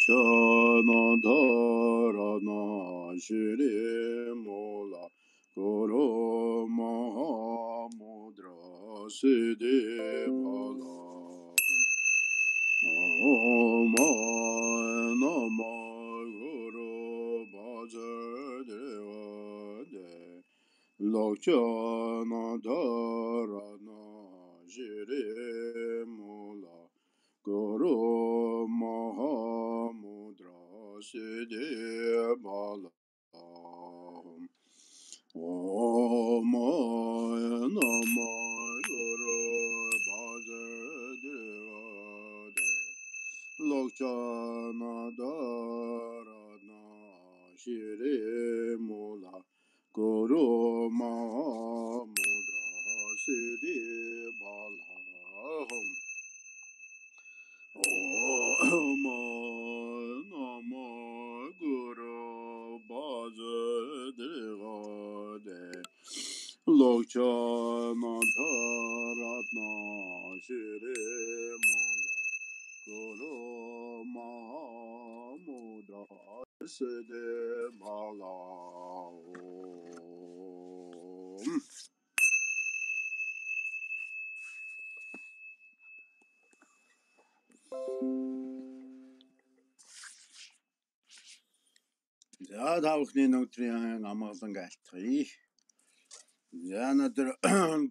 Lokyanadharana Shirimola Guru Mahamudra Siddhivala Om Namah Guru Vasudevade Lokyanadharana Shirimola Guru Mahamudra Siddhivala Om Namah Guru Vasudevade Lokyanadharana Shirimola Guru Mahamudra Siddhivala Om Namah Guru Vasudevade Lokyanadharana Shirimola Guru Mahamudra Siddhivala За тавхны өдрийн амгалан айлтгая. За өнөөдөр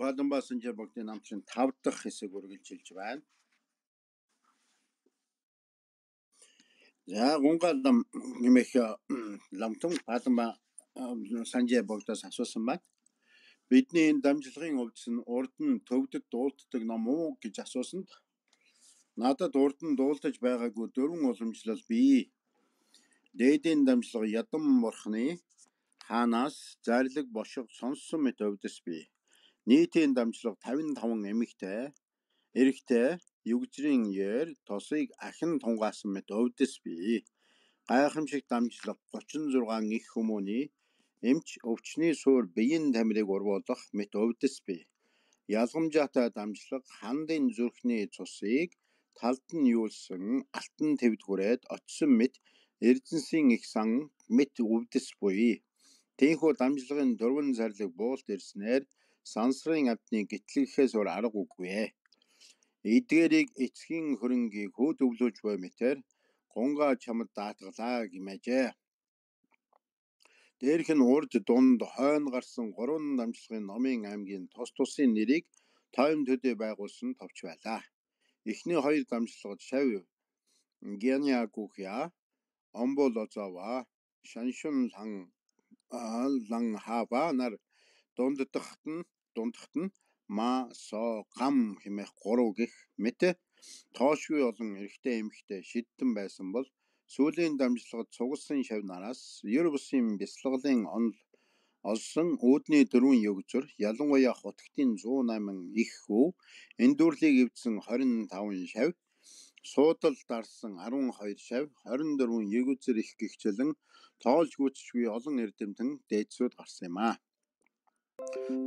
Баданбаа Санжаа Богдын намчин 5 дахь хэсэг үргэлжилж байна. За гунгал нэмэх ламтан Баданбаа Санжаа Богдоос асуусан байна. Бидний энэ дамжлагын хувьд нь урд нь төвдөд дуулддаг ном уу гэж асуусанд надад урд нь дуулдаж байгаагүй 4 уламжлал бий. Дээдийн дамжлага Ядам бурхны хаанаас зарлиг бошиг сонссон мэт өвдөс бий. Нийтийн дамжлага 55 эмэгтэй, эрэгтэй, югжрийн яар тосыг ахин тунгаасан мэт өвдөс бий. Гайхамшиг дамжлага 36 их хүмүүний эмч өвчний суур биеийн тамирыг урвуулах мэт өвдөс бий. Ялгамжаатай дамжлага хандын зүрхний цусыг талд нь юулсан алтан твдгүрээд очсон мэт Эрдэнсийн их сан мэт өвдөс буй. Тийхүү дамжлагын 4 зарлиг буулт ирснээр сансрын амтны гитлэхээс өөр арга үгүй. Эдгээрийг эцгийн хөрөнгийг хөөдөвлөж буй мэтэр гунгаа чамд даатгалаа гимээжээ. Дээрх нь урд дунд хойно гарсан 3 дамжлагын номын аймгийн тус тусын нэрийг тойм төдий байгуулсан товч байлаа. Эхний 2 дамжлагад шав Гяньягухя Омболозава Шаншун лан хава нар дунддахт нь ма со гам хэмээх 3 гих мэт тоошгүй олон эрэгтэй эмэгтэй шидтэн байсан бол сүүлийн дамжлагад цугласан шав нараас ер бусын бяцлаглын онол олсон үүдний 4 югзөр ялангуяа хотгтын 108 их хүү эндүрлийг эвдсэн 25 шав суудал дарсан 12 шав 24 югзэр их гихчлэн тоолж гүйцшгүй олон эрдэмтэн дээдсүүд гарсан юм а.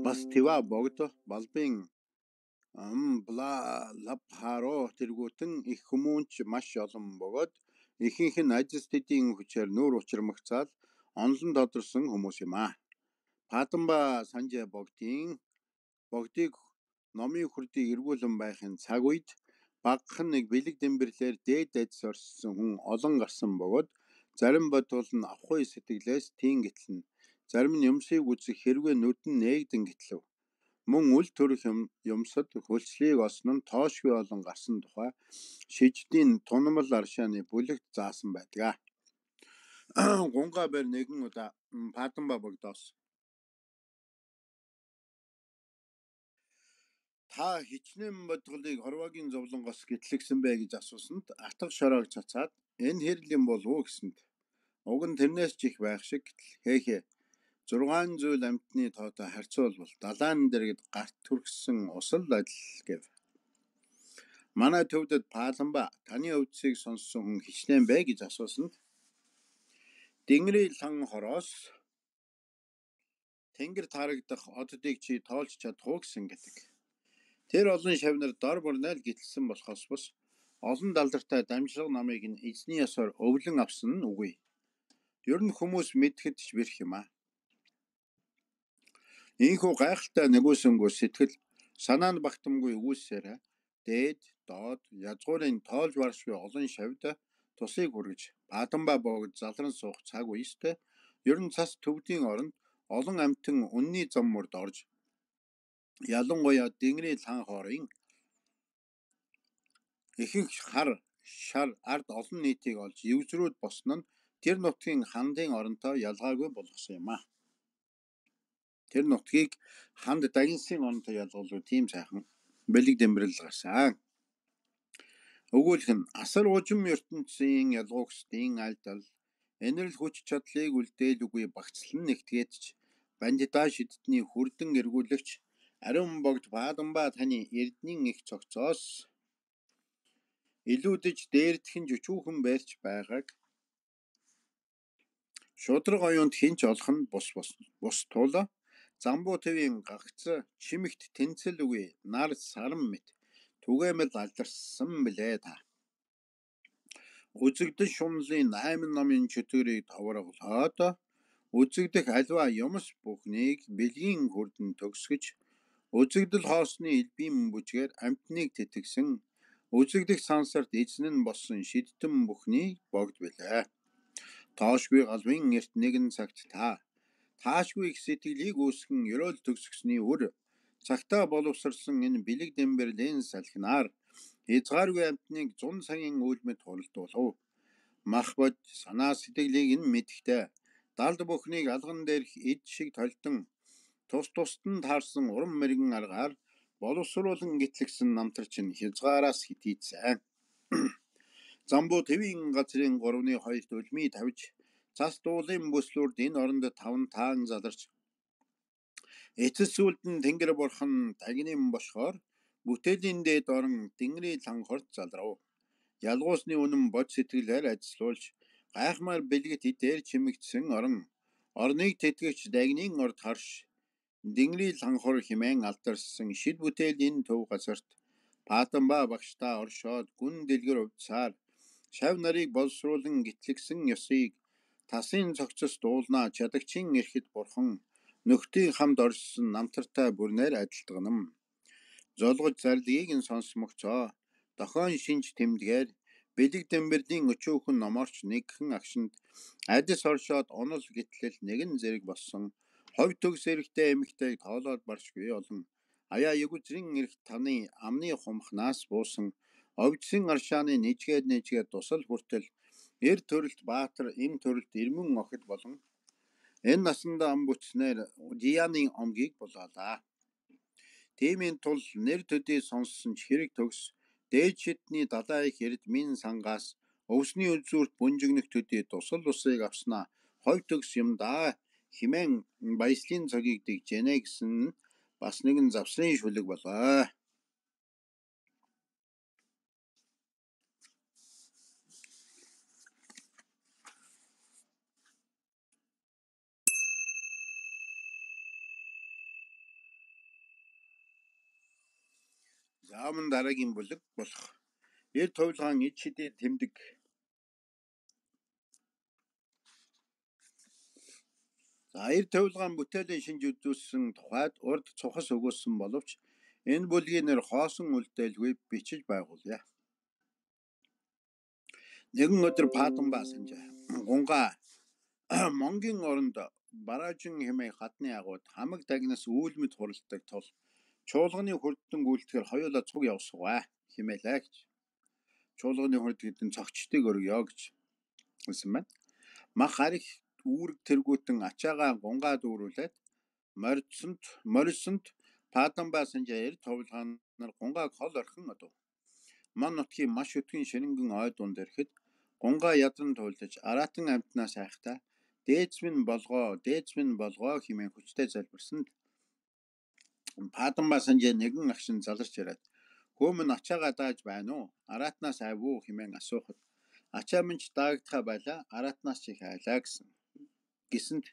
Бас Тива богд балбын бла лапхаро тэргүүтэн их хүмүүнч маш олон бөгөөд ихэнх нь ажил төдийн хүчээр нүүр учрамгцаал онлон тодорсон хүмүүс юм а. Баданбаа Санжаа богдыг номын хүрдийг эргүүлэн байхын цаг үед багхан нэг бэлэг дэмбэрлэр дээд дайдс орсон хүн олон гарсан бөгөөд зарим бодвол нь авахгүй сэтгэлээс тийм гэтлэн зарим нь юмсыг үзэх хэрвээ нүдэн нээгдэн гэтлэв. Мөн үл төрөх юмсад хөлслийг олсон нь тоошгүй олон гарсан тухай шиждийн тунамал аршааны бүлэгт заасан байдаг. Гунгаа бэр нэгэн удаа Баданбаа богдоос та хичнээн бодголыг хорвоогийн зовлонгоос гэтлэгсэн бэ гэж асуусанд атга шороог цацаад энэ хэрлийн болов уу гэсэнд уг нь тэрнээс ч их байх шиг гэтэл 6 зүйл амьтны тоотой харьцуулбал далайн дэргэд гарт түргсэн усал адил гэв. Манай төвдөд Баданбаа таны өвдсийг сонссон хүн хичнээн бэ гэж асуусанд Дэнгэрийн лан хороос тэнгэр тарагдах оддыг чи тоолж чадах уу гэсэн гэдэг. Тэр олон шавнар дор борнол гитэлсэн болохоос бус олон далдартай дамжлага намыг нь эзний ёсоор өвлөн авсан нь үгүй. Ер нь хүмүүс мэдхэд ч бэрх юм аа. Ийхүү гайхалтай нэгүсэнгүү сэтгэл санаа нь багтамгүй үүсээр дээд, доод, язгуурын тоолж баршгүй олон шавьд тусыг хүргэж Баатанбаа богд залран суух цаг үестэй ер нь цас төвдийн оронд олон амьтан үнний зам мөрд орж ялангуяа Дэнгэрийн лхан хоорын ихэнх хар, шар, ард олон нийтийг олж евзрүүд босно нь тэр нутгийн хандын оронтой ялгаагүй болгосон юм аа. Тэр нутгийг ханд дагинсын оронтой ялгуулгүй тийм сайхан бэлэг дэмбэрэл гарсан. Өгүүлэх нь асар ужим ертөнцийн ялгуугчдын альдал энэрл хүч чадлыг үлдээлгүй багцлан нэгтгээд ч бандитаа шидтний хүрдэн эргүүлэгч ариун богд Баатанбаа таны эрднийн их цогцоос илүүдэж дээрдхэн жүчүүхэн байрч байгааг шудраг оюунд хинч олох нь бус туула замбуу төвийн гагц чимэгт тэнцэл үгүй нар сарам мэт түгээмэл алдарсан билээ та. Үзэгдэл шунлын 8 номын чөтгөрийг товроглоод үзэгдэх альва юмс бүхнийг бэлгийн хүрдэн төгсгөж үзэгдэл хоосны элбийн бүжгээр амтныг тэтгсэн үзэгдэх сансарт эзэн нь болсон шидтэн бүхнийг богд билээ. Тоошгүй галвын эрт нэгэн цагт таашгүй их сэтгэлийг үүсгэн ёроол төгсгсний үр цагтаа боловсрсан энэ бэлэг дэмбэрлийн салхинаар хязгааргүй амтныг 100 цагийн үйлмэд хуралдуулав. Мах бод санаа сэтгэлийг нь мэдхтэй далд бүхнийг алган дээрх эд шиг толтон тусад нь таарсан уран мэрэгэн аргаар боловсруулан гитлэгсэн намтарч нь хязгаараас хитийцсэн. Замбуу төвийн газрын 3-2 үлмий тавьж цас дуулын бүслүүрд энэ оронд 5 таан заларч эцэс сүлдэн тэнгэр бурхан дагнын бошгоор бүтээлийн дээд орон Дэнгэрийн лхан хорт залрав. Ялгуусны үнэн бод сэтгэлээр ажиллуулж гайхмаар бэлгэт идээр чимэгдсэн орныг тэтгэгч дагнын орд харш Дэнгэрийн лхан хор химэн алдарсан шид бүтээлийн төв газарт Баатанбаа багштаа оршоод гүн дэлгэр увдсаар шав нарыг боловсруулан гитлэгсэн ёсыг тасын цогцос дуулнаа чадагчин эрхэд бурхан нөхдийн хамд оршсон намтартай бүрнээр адилтганам. Золгож зарлагийг нь сонсмогцоо дохойн шинж тэмдгээр бэлэг дэмбэрлийн өчүүхэн номорч нэгхэн агшинд адис оршоод онол гитлэл нэгэн зэрэг болсон ховь төгс эрэхтэй эмэгтэйг тоолоод баршгүй олон аяа ягүзрийн эрх таны амны хумхнаас буусан овжсын аршааны нэжгээд тусал хүртэл эр төрөлт баатар эм төрөлт ирмэн охид болон энэ насанда ам бүтснээр Дияны омгийг болоолаа. Тиймийн тул нэр төдий сонссон ч хэрэг төгс дээд шидний далай их эрд минь сангаас өвсний үзүүрт бүнжигнэх төдий тусал усыг авснаа ховь төгс юм даа химэн баяслын цагийг дэгжэнэ гэсэн бас нэгэн завсрын шүлэг болоо. Зааман дараагийн бүлэг болох эр товлгаан ид шидээр тэмдэг. Эр товлгаан бүтээлийн шинж үзүүлсэн тухайд урд цухас өгүүлсэн боловч энэ бүлгийн нэр хоосон үлдээлгүй бичиж байгуулъя. Нэгэн өдөр Баатанбаа санжаа гунгаа Монгийн оронд бараажин хэмээх хатны агууд хамаг дагнаас үүлмэд хуралдаг тул чуулганы хүрдэн гүйлтгэр хоёулаа цуг явсгаа хэмээлээ гэж. Чуулганы хүрд гэдэг нь цогчдыг өргөё гэж хэлсэн байна. Мах харих үүрэг тэргүүтэн ачаагаа гунгаа дүүрүүлээд морисонд Баатанбаа санжаа эр товлгаанаар гунгааг хол орхин одов. Ман нутгийн маш өтгөн ширэнгэн ой дунд ирэхэд гунгаа ядан туйлж араатан амтнаас айхтаа дээдс минь болгоо хэмээн хүчтэй залбирсанд Баатанбаа санжаа нэгэн агшин заларч ирээд хөөмөн ачаагаа дааж байна уу? Араатнаас айв уу хэмээн асуухад ачаа минь ч даагдхаа байлаа араатнаас ч их айлаа гэсэнд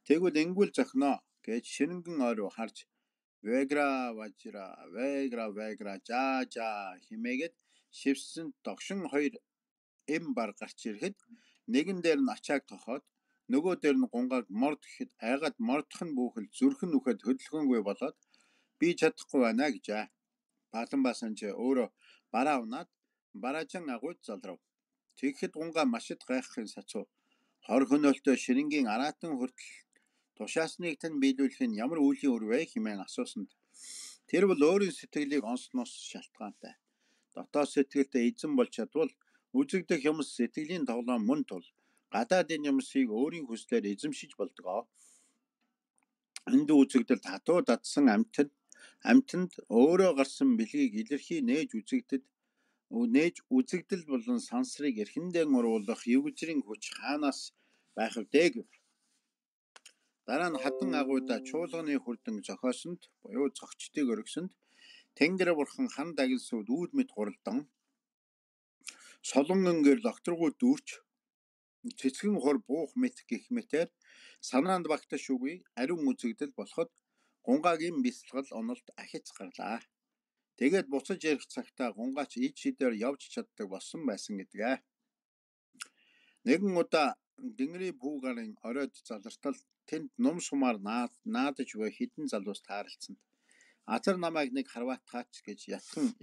тэгвэл энгүүл зохиноо гэж ширэнгэн ой руу харж вегра жа химээгээд шивсэн догшин хоёр эм бар гарч ирэхэд нэгэн дээр нь ачааг тохоод нөгөө дээр нь гунгааг морд гэхэд айгаад мордох нь бүхэл зүрхэн нүхэд хөдөлгөөнгүй болоод би чадахгүй байна гэжээ. Паланба санж өөрөө бараа унаад бараажин агуйд залрав. Тэгэхэд гунгаа машид гайхахын сацуу хор хөнөөлтөө ширингийн араатан хүртэл тушаасныг тань биелүүлэх нь ямар үлийн үр вэ хэмээн асуусанд тэр бол өөрийн сэтгэлийг онсноос шалтгаантай. Дотоод сэтгэлдээ эзэн болж чадвал үзэгдэх юмс сэтгэлийн тоглоом мөн тул гадаадын юмсыг өөрийн хүслээр эзэмшиж болдгоо. Энд үзэгдэл хатуу дадсан амьтанд өөрөө гарсан бэлгийг илэрхий нээж үзэгдэл болон сансрыг эрхэндээ уруулах югжрийн хүч хаанаас байх вдэ гэв. Дараа нь хадан агуйда чуулганы хүрдэн зохиосонд буюу зогчдыг өргөсөнд Тэнгэр бурхан хан дагилсууд үүд мэд гуралдан солонгонгээр докторгууд дүүрч цэцгэн хор буух мэт гэх мэтээр санаанд багтаж үгүй ариун үзэгдэл болоход гунгаагийн бясалгал онолд ахиц гарлаа. Тэгээд буцаж ярих цагтаа гунгаач ид шидээр явж чаддаг болсон байсан гэдгээ. Нэгэн удаа Дэнгэрийн пүү гарын оройд залартал тэнд нум сумаар наадаж буй хідэн залуус тааралцсанд азар намайг нэг харваатгаач гэж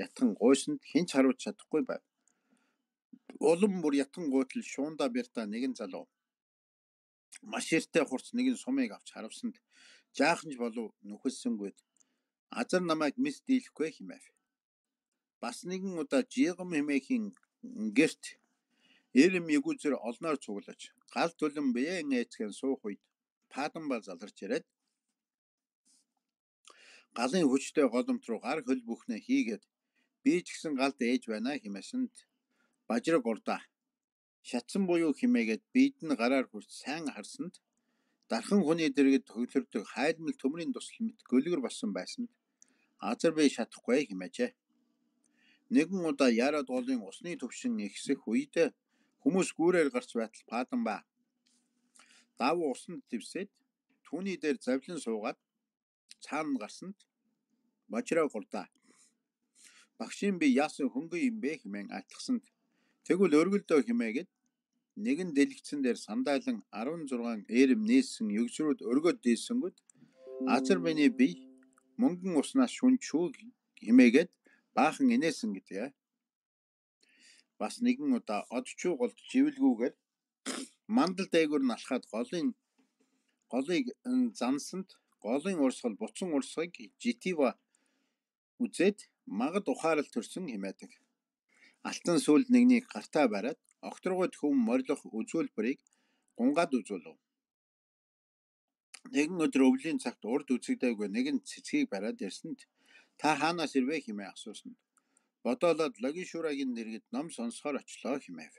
ятхан гуйсанд хинч харуулж чадахгүй байв. Улам бүр ятхан гуйтал шуунда бярта нэгэн залуу маш эртээ хурц нэгэн сумыг авч харавсанд жааханч болов нүхэлсэнгүйд азар намайг мис дийлэхгүй хэмэв. Бас нэгэн удаа жигам хэмээхийн гэрт эрэм ягүзэр олноор цуглаж гал түлэн биеэн ээцгэн суух үед Паланба заларч ирээд галын хүчтэй голомт руу гар хөл бүхнээ хийгээд би ч гэсэн галд ээж байна хэмээсэнд бажраг урдаа шатсан буюу химээгээд бид нь гараар хүрч сайн харсанд дархан хүний дэргэд хөглөрдөг хайлмал төмрийн тусал мэт гөлгөр болсон байсанд азар би шатахгүй хэмээжээ. Нэгэн удаа яраад голын усны төвшин ихсэх үед хүмүүс гүүрээр гарч байтал Паланба давуу усанд дэвсээд түүний дээр завлин суугаад цаана гарсанд бажраг урдаа багшийн би яасан хөнгөн юм бэ хэмээн айлтгсанд тэгвэл өргөлдөө хэмээгээд нэгэн дэлгэцэн дээр сандайлан 16 эрэм нээсэн югсрүүд өргөд дээсэнгүүд азар миний бие мөнгөн уснаас шүнчүү хэмээгээд баахан инээсэн гэдгээ. Бас нэгэн удаа одчуу голд живэлгүүгээр мандал дээгүүр нь алхаад голыг зансанд голын урсгал буцан урсгыг житива үзээд магад ухаарал төрсөн хэмээдэг. Алтан сүлд нэгнийг гартаа бариад огторгойд хүм морилох үзүүлбэрийг гунгаад үзүүлв. Нэгэн өдөр өвлийн цагт урд үзэгдээгүй нэгэн цэцгийг бариад ирсэнд та хаанаас ирвэ хэмээн асуусанд бодоолоод Логишурагийн дэргэд ном сонсохоор очлоо хэмээв.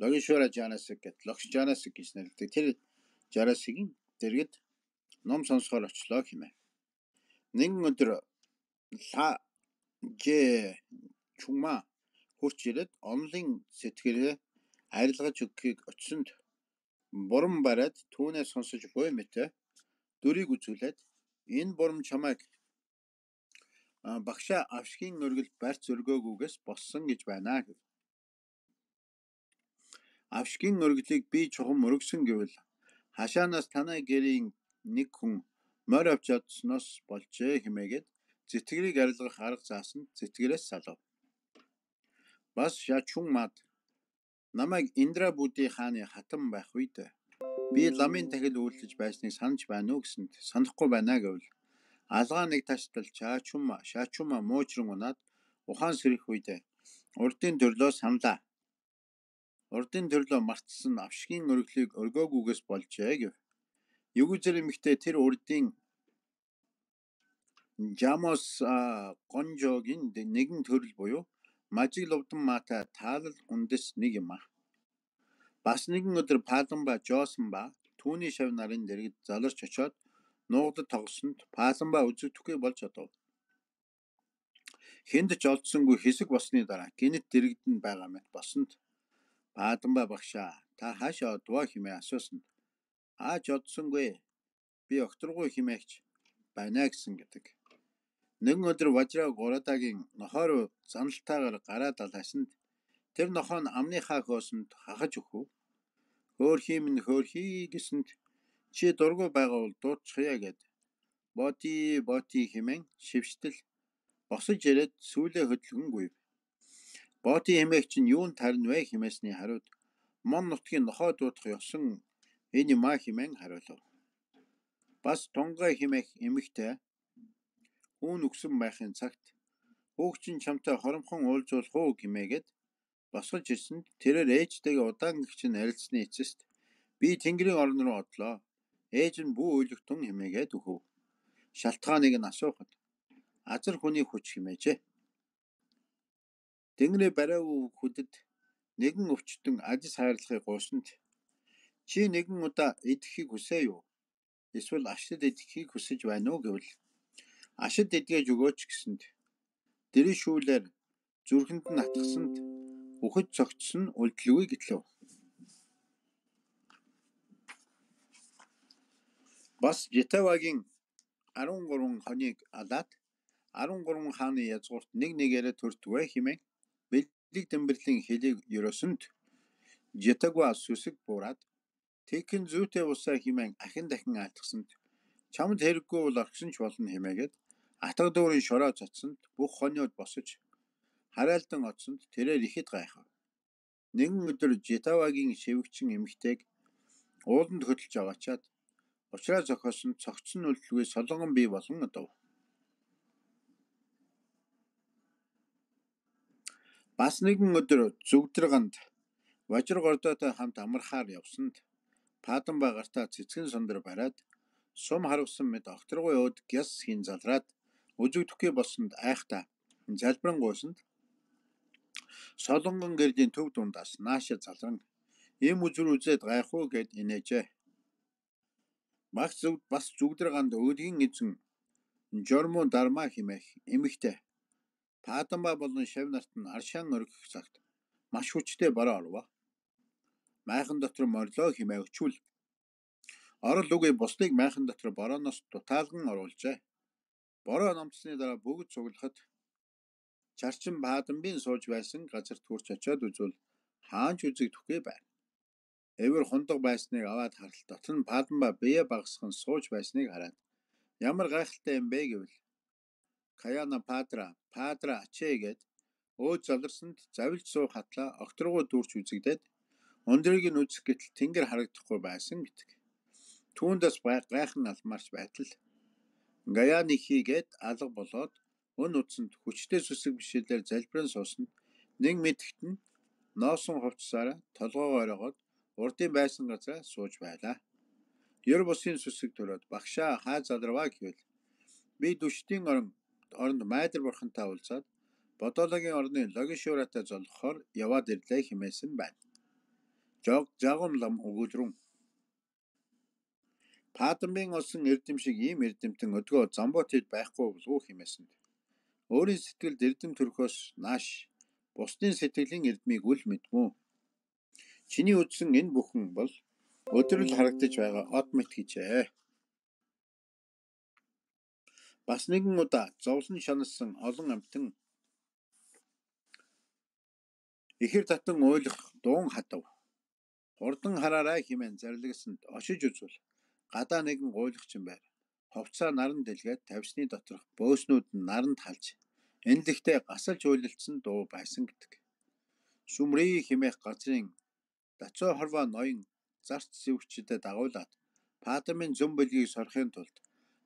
Логишура Жанасаг гэд Логш Жанасаг гэж нэрлэдэг тэр Жанасагийн дэргэд ном сонсохоор очлоо хэмээв. Нэгэн өдөр Чума хурч ирээд онлын сэтгэлээ арилгаж өгөхийг очсонд бурам бариад түүнээс сонсож буй мэтэ дүрийг үзүүлээд энэ бурам чамайг багшаа авшгийн өргөл барьц өргөөгүйгээс болсон гэж байна гэв. Авшгийн өргөлийг би чухам өргөсөн гэвэл хашаанаас танай гэрийн нэг хүн морь авч чадсноос болжээ хэмээгээд зэтгэрийг арилгах арга заасан зэтгэрээс салав. Бас Шачумад намайг Индра Будди хааны хатан байх үед би ламын тахил үйлдэж байсныг санаж байна уу гэсэнд санахгүй байна гэвэл алгаа нэг таштал Шачума муужран унаад ухаан сэрэх үед урдын төрлөө саналаа. Урдын төрлөө мартсан авшгийн өргөлийг өргөөгүйгээс болжээ гэв. Югүзэр эмэгтэй тэр урдын Жамос гонжогийн нэгэн төрөл буюу мажиг ловдон маата таалал үндэс нэг юм а. Бас нэгэн өдөр Паланба жоосон ба түүний шав нарын дэргэд заларч очоод нуугдад тоглосонд Паланба үзэгдэхгүй болж одов. Хэнд ч олдсонгүй хэсэг босны дараа гинэт дэргэдэнд байгаа мэт босонд Паланба багшаа та хаашаа одвоо хэмээн асуусанд ааж одсонгүй би окторгүй хэмээгч байна гэсэн гэдэг. Нэгэн өдөр Важра Гурадагийн нохой руу заналтайгаар гараад алаасанд тэр нохой нь амныхаа хөөсөнд хахаж өгөв. Хөөрхий минь хөөрхий гэсэнд чи дургүй байгаа бол дуутчихъя гэд боти хэмээн шивштэл босож ирээд сүүлээ хөдөлгөн гүйв. Боти хэмээх чинь юунд тарна вэ хэмээсний хариуд мон нутгийн нохой дуудах ёсон энэ маа хэмээн хариулав. Бас тунгай хэмээх эмэгтэй үүн өгсөн байхын цагт хүүгчин чамтай хоромхон уулзуулах уу гэмээгээд босгож ирсэнд тэрээр ээжтэйгээ удаан гихчин харилцсны эцэст би Тэнгэрийн орн руу одлоо. Ээж нь бүү өөлөгтөн хэмээгээд өгөв. Шалтгааныг нь асуухад азар хүний хүч хэмээжээ. Тэнгэрээ барай хүдэд нэгэн өвчтөн ажис хайрлахыг гуйсанд чи нэгэн удаа идэхийг хүсээ юу? Эсвэл ашид идэхийг хүсэж байна уу гэвэл ашид идгээж өгөөч гэсэнд дэришүүлээр зүрхэнд нь атгсанд үхэд цогцсон үлдэлгүй гэтлээ. Бас Житавагийн 13 хоныг алаад 13 хааны язгуурт нэг нэгээрээ төртгөө хэмээн бэлэг дэмбэрлийн хэлийг ерөөсөнд Житагва сүсэг буураад тэгхэн зүйтэй усаа хэмээн ахин дахин айлтгсанд чамд хэрэггүй бол орхисон ч болно хэмээгээд атга дүүрийн шороо цацсанд бүх хониуд босож хараалдан оцсонд тэрээр ихэд гайхав. Нэгэн өдөр Житавагийн шивгчин эмэгтэйг ууланд хөдөлж аваачаад учраа зохиосон цогцсон үлдэлгүй солонгон бий болгон одов. Бас нэгэн өдөр зүгдрэганд Важиргордотой хамт амархаар явсанд Паданба гартаа цэцгэн сондөр бариад сум харвсан мэд огторгой өд гяс хийн залраад үзэгдэхгүй болсонд айхтаа залбиран гуйсанд солонгон гэрдийн төв дундаас нааша залран им үзүр үзээд гайх уу гэд инээжээ. Бас зүгдрэганд өдгийн эзэн Жорму Дарма хэмээх эмэгтэй Паданба болон шав нарт нь аршаан оргих цагт маш хүчтэй бороо орвоо. Майхан дотор морлоо хэмээн өчүүл орол үгүй бусдыг майхан дотор борооноос дутаалган оруулжээ. Бороо номцсны дараа бүгд цуглахад чарчин Паданбын сууж байсан газар төрч очиод үзвэл хаанч үзэгдэхгүй байна. Эвэр хундаг байсныг аваад харалт дотор нь Паданба бие багасхан сууж байсныг хараад ямар гайхалтай юм бэ гэвэл Каяна Падра ачээ гэд өөд заларсанд завилж суух хатлаа огторгоо дүүрч үзэгдээд өндрийг нь үзэх гэтэл тэнгэр харагдахгүй байсан гэдэг. Түүндээс гайхан алмаарч байтал Гаяны хийгээд алга болоод өн утсанд хүчтэй сүсэг бишэлээр залбиран суусанд нэг мэдгт нь ноосон хувцсаараа толгоогоо оройгоод урдын байсан газараа сууж байлаа. Ёр бусын сүсэг төрөөд багшаа хаа заларваа гэвэл би дүшдийн оронд майдар бурхантай уулзаад Бодоологийн орны Логишуратай золгохоор яваад ирлээ хэмээсэн байна. Жагум лам өгүүлрүн Паданбын олсон эрдэм шиг ийм эрдэмтэн өдгөө Замботид байхгүй болов хэмээсэнд өөрийн сэтгэлд эрдэм төрхөөс нааш бусдын сэтгэлийн эрдмийг үл мэдмүү. Чиний үзсэн энэ бүхэн бол өдрөл харагдаж байгаа од мэт гэжээ. Бас нэгэн удаа зовлон шаналсан олон амьтан ихэр татан уйлах дуун хатав. Хурдан хараарай хэмээн зарлагсанд очиж үзвэл гадаа нэгэн гуйлагчин байр. Ховцаа наран дэлгээд тавьсны доторх бөөснүүд нь наранд халж энэлэгтээ гасалж уйлалцсан дуу байсан гэдэг. Сүмрий хэмээх газрын Дацоо хорвоо ноён зарц зэвгчдэд дагуулад Паданбын зөм бөлгийг сорохын тулд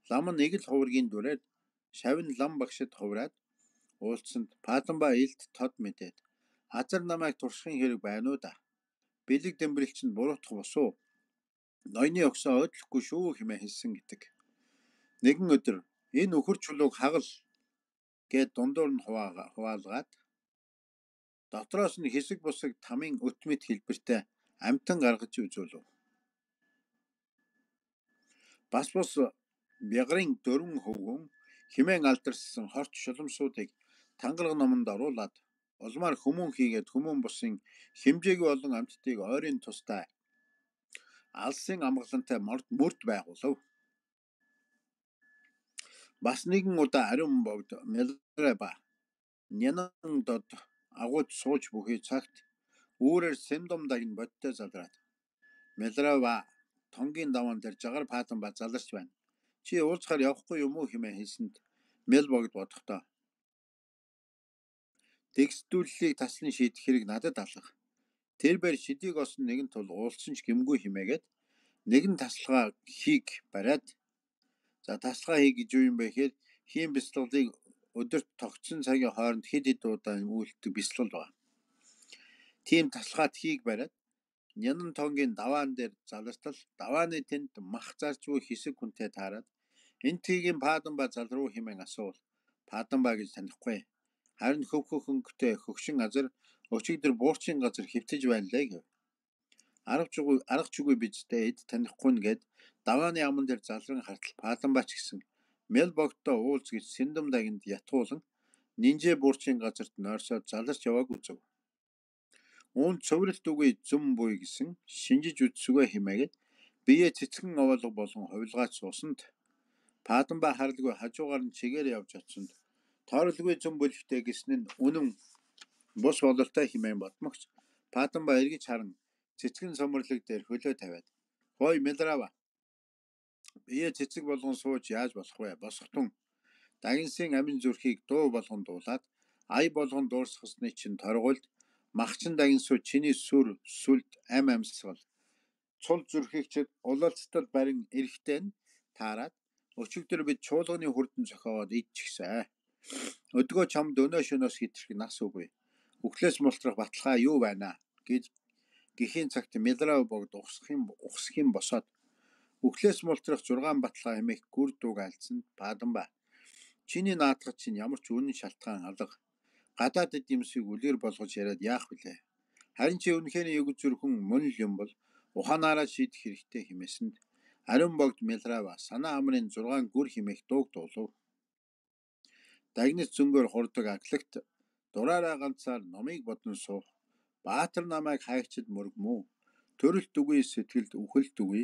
лам нь нэг л хувргийн дүрээр шавин лам багшид хувраад уулзсанд Паданба илт тод мэдээд азар намайг туршихын хэрэг байна уу да. Бэлэг дэмбэрэлч нь буруутах босуу. Ноёны өгсөө ойдлохгүй шүү хэмээн хэлсэн гэдэг. Нэгэн өдөр энэ өхөр чулууг хагал гэд дундуур нь хуваалгаад дотроос нь хэсэг бусаг тамийн өтмөд хэлбэртэй амтан гаргаж үзүүлв. Бас бягрын дөрвөн хөвгөн хэмээн алдарсан хорт шуламсуудыг тангараг номонд оруулаад улмаар хүмүүн хийгээд хүмүүн бусын хэмжээгүй олон амьтдыг ойрын тустай алсын амгалантай мөрд байгуулв. Бас нэгэн удаа ариун богд Мелраба нянан дод агууд сууж бүхий цагт үүрээр Сэмдомдаг нь бодтой залраад Мелраба тонгийн даваан дээр жагаар паатан ба заларч байна. Чи уулзахаар явахгүй юм уу хэмээн хэлсэнд Мел богд бодохдоо тэгсдүүллийг таслан шийдэх хэрэг надад алах. Тэр бээр шидийг осон нэгэн тул уулсан ч гимгүй химээгээд нэгэн таслага хийг бариад таслага хий гэж юу юм бэ гэхээр хийм бяцлаглыг өдөрт тогтсон цагийн хооронд хэд хэд удаа үйлддэг бяцлал ба. Тийм таслагаат хийг бариад нянан тонгийн даваан дээр залартал давааны тэнд мах зарж буй хэсэг хүнтэй таарад энэ тгийн паадан ба зал руу хэмээн асуувал паадан ба гэж танихгүй. Харин хөвхөх хөнгөтэй хөгшин газар өчигдөр буурчин газар хөвтөж байна лээ гэв. Арга чүгүй бидтэй эд танихгүй нэгэд давааны аман дээр залран хартал паадан бач гэсэн Мел богдтой уулз гэж Сэндэмдагинд ятгуулан нинжээ буурчин газарт нойрсоод заларч явааг үзв. Үүнд цовралт үгүй зүм буй гэсэн шинжиж үзсүгэ хэмээгээд бие цэцгэн овоолго болон хувилгаач суусанд паадан ба харалгүй хажуугаар нь чигээр явж очсонд тойролгүй зүм бүлэгтэй гэсэн нь үнэн бус бололтой хэмээн бодмогч паадан ба эргэж харан цэцгэн сомрлог дээр хөлөө тавиад хой Мелрава бие цэцэг болгон сууж яаж болох вэ? Босготун дагинсын амин зүрхийг дуу болгон дуулаад ая болгон дуурсгасны чинь торгуульд махчин дагинсуу чиний сүр сүлд амьсгал цул зүрхийгчд улалцтал барин эрэхтэн таарад өчигдөр бид чуулганы хүрдэн зохиоод идчихсэн. Өдгөө чамд өнөө шөнөөс хитрэх нас үгүй. Үхлээс мултрах баталгаа юу байна гэж гэхийн цагт Мелрава богд ухсах юм босоод үхлээс мултрах 6 баталгаа хэмээх гүр дууг альцсан паадан ба. Чиний наадах чинь ямар ч үнэн шалтгаан алга. Гадаад эдэмсийг үлгэр болгож яриад яах вүлээ. Харин чи үнэхээр өгөж зүрхэн мөн л юм бол ухаанаараа шийдэх хэрэгтэй хэмээсэнд ариун богд Мелрава санаа амрын 6 гүр хэмээх дууг дуулав. Дагнас зөнгөөр хурдаг аглагт дураараа ганцаар номыг бодон суух. Баатар намайг хайгчд мөргмүү. Төрөлт үгүй сэтгэлд үхэлт үгүй.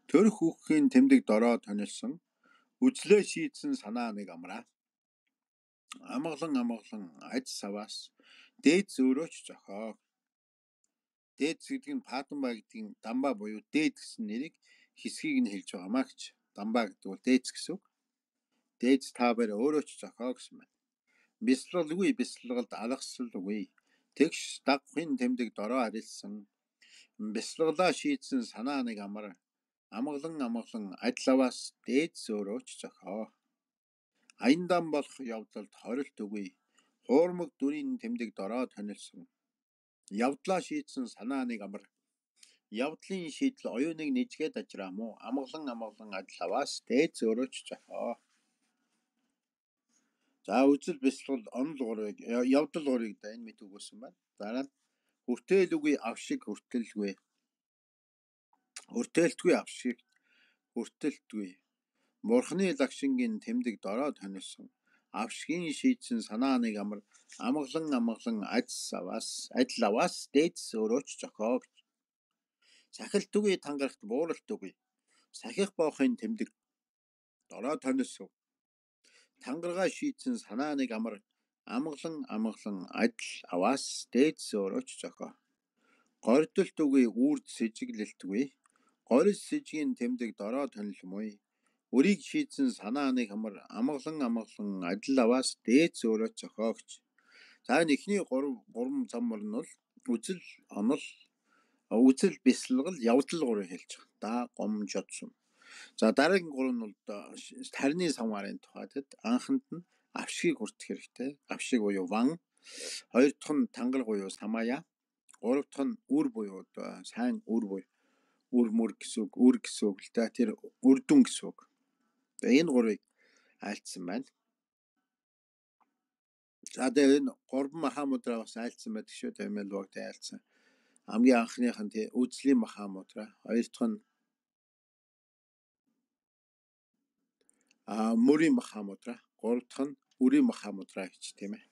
Төрөх үхэхийн тэмдэг дороо тонилсон. Үзлээ шийдсэн санаа нэг амраа. Амгалан аж саваас дээд зөөрөөч зохиог. Дээд гэдэг нь паадан ба гэдэг нь дамба буюу дээд гэсэн нэрийг хэсгийг нь хэлж байгаамаа гэж. Дамба гэдэг бол дээд гэсэн үг. Дээд та бэр өөрөө ч зохио гэсэн байна. Бяцлаглгүй бяцлаглд алгасалгүй. Тэгш дагахын тэмдэг дороо харилсан. Бяцлаглаа шийдсэн санаа нэг амар. Амгалан адлаваас дээд зөөрөөч зохио. Аяндан болох явдалд хорилт үгүй. Хуурмаг дүрийн тэмдэг дороо тонилсон. Явдлаа шийдсэн санаа нэг амар. Явдлын шийдэл оюуныг нэжгээд ажраа мó. Амгалан адлаваас дээд зөөрөөч зохио. За үзэл бяцлал онол гурыг явдал гурыг да энэ мэд өгсөн байна. Дараа нь хүртэл үгүй авшиг хүртэлгүй. Хүртэлтгүй авшиг хүртэлтгүй. Бурхны лагшингийн тэмдэг дороо тонилсон. Авшгийн шийдсэн санаа нэг амар. Амгалан адлаваас дээд зөөрөөч зохио. Сахилт үгүй тангарахт бууралт үгүй. Сахих боохын тэмдэг дороо тонилсон. Тангаргаа шийдсэн санаа нэг амар. Амгалан адлаваас дээд зөөрөөч зохио. Гордолт үгүй үрд сэжиглэлтгүй. Горис сэжгийн тэмдэг дороо тонилмой. Үрийг шийдсэн санаа нэг амар. Амгалан адлаваас дээд зөөрөөч зохиогч. За энэ ихний 3 замбар нь бол үзэл онол үзэл бяцлал явдал гурыг хэлж байгаа. Да гомжодсон. За дараагийн 3 нь бол тарины самгаарын тухайд анханд нь авшгийг хүртэх хэрэгтэй. Авшиг буюу ван. Хоёр дахь нь тангар буюу самая. Гурав дахь нь үр буюу сайн үр буюу үр мөр гэсэн үг, үр гэсэн үг л да. Тэр үрдүн гэсэн үг. Энэ гурыг айлцсан байна. За тэгээ энэ 3 махамудра бас айлцсан байдаг шүү. Мел богд айлцсан. Хамгийн анхных нь үзлийн махамудра, хоёр дахь нь мөрийн махамудра, гурав дахь нь үрийн махамудра гэж тийм ээ.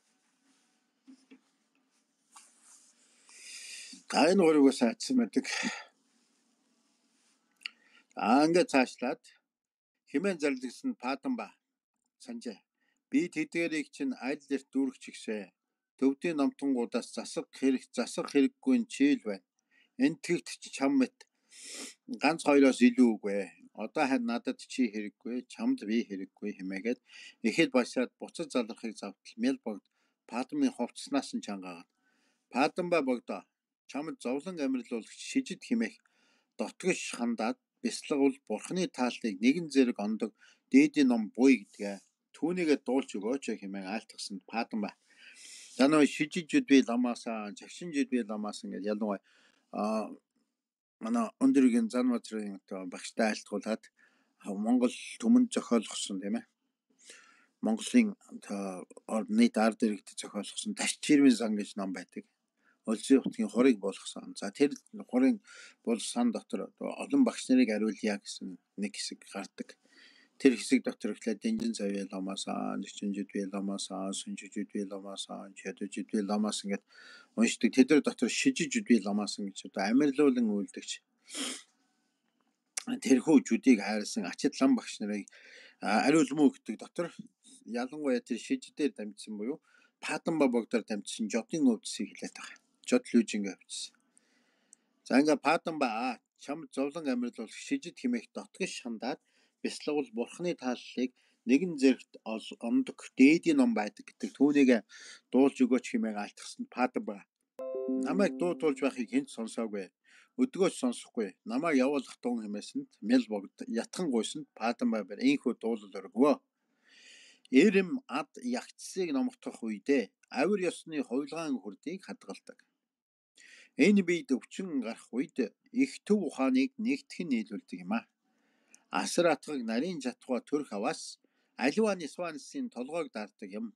За энэ гурыг бас айлцсан байдаг. Ингээд цаашлаад хэмээн зарлагдсан паадан ба санжээ. Би тэдгэрийг чинь аль эрт дүүргэж гисэ. Төвдийн номтонгуудаас засах хэрэггүй нь чийл байна. Энтгэгт чам мэт ганц хоёроос илүү үгүй. Одоо харин надад чи хэрэггүй, чамд би хэрэггүй хэмээгээд ихэд башаад буцаж залрахыг завтал мэл богд Падмын хувцснаас нь чангаагаад. Падамба богдоо чамд зовлон амьрлуулагч шижид химэх дотгош хандаад бясалгавал бурхны тааллыг нэгэн зэрэг ондог дээдийн ном буй гэдгээ түүнийгээ дуулж өгөөч хэмээн айлтгсан Падамба. За нөө шижижүүд би ламаасаа, жагшинжүүд би ламаасан гэж ялангуяа манай өндөргийн зан мазрын багштай айлтгуулад Монгол түмэнд зохиолгосон тийм ээ. Монголын нийт ард иргэдэд зохиолгосон Таш чирмэн сан гэж ном байдаг. Улсын утгийн хурыг болгосон. За тэр хурын бол сан дотор олон багш нарыг ариулъя гэсэн нэг хэсэг гардаг. Тэр хэсэг дотор ихлээр Дэнжин цавья ламаасаа, Жичинжид би ламаасаа, Сүнжижид би ламаасаа, Чадужид би ламаас ингээд уншдаг. Тэдэр дотор шижижид би ламаасан гэж одоо амьрлуулан үйлдэгч тэрхүү жүдийг хайрласан ачид лам багш нарыг ариулмуу гэдэг дотор ялангуяа тэр шижидээр дамжсан буюу Падамба богдоор дамжсан жодын өвдсийг хэлээд байгаа. Жод лүүжингээ өвдсөн. За ингээ Падамба чам зовлон амьрлуулах шижид химэх дотгош хандаад бясалгавал бурхны тааллыг нэгэн зэрэгт ондог дээдийн ном байдаг гэдэг түүнийг дуулж өгөөч хэмээн айлтгсан Падамба. Намайг дуудуулж байхыг хэн ч сонсоогүй. Өдгөөч сонсохгүй. Намайг явуулах дун хэмээсэнд мэл богд ятхан гуйсанд Падамба бэр ийхүү дуулал өргөвөө. Эрэм ад ягцсыг номогдох үедээ авир ёсны хувилгаан хүрдийг хадгалдаг. Энэ бид өвчин гарах үед их төв ухааныг нэгтгэн нийлүүлдэг юм. Асар атгаг нарийн жатгаа төрх аваас аливаа нисванысын толгойг даардаг юм.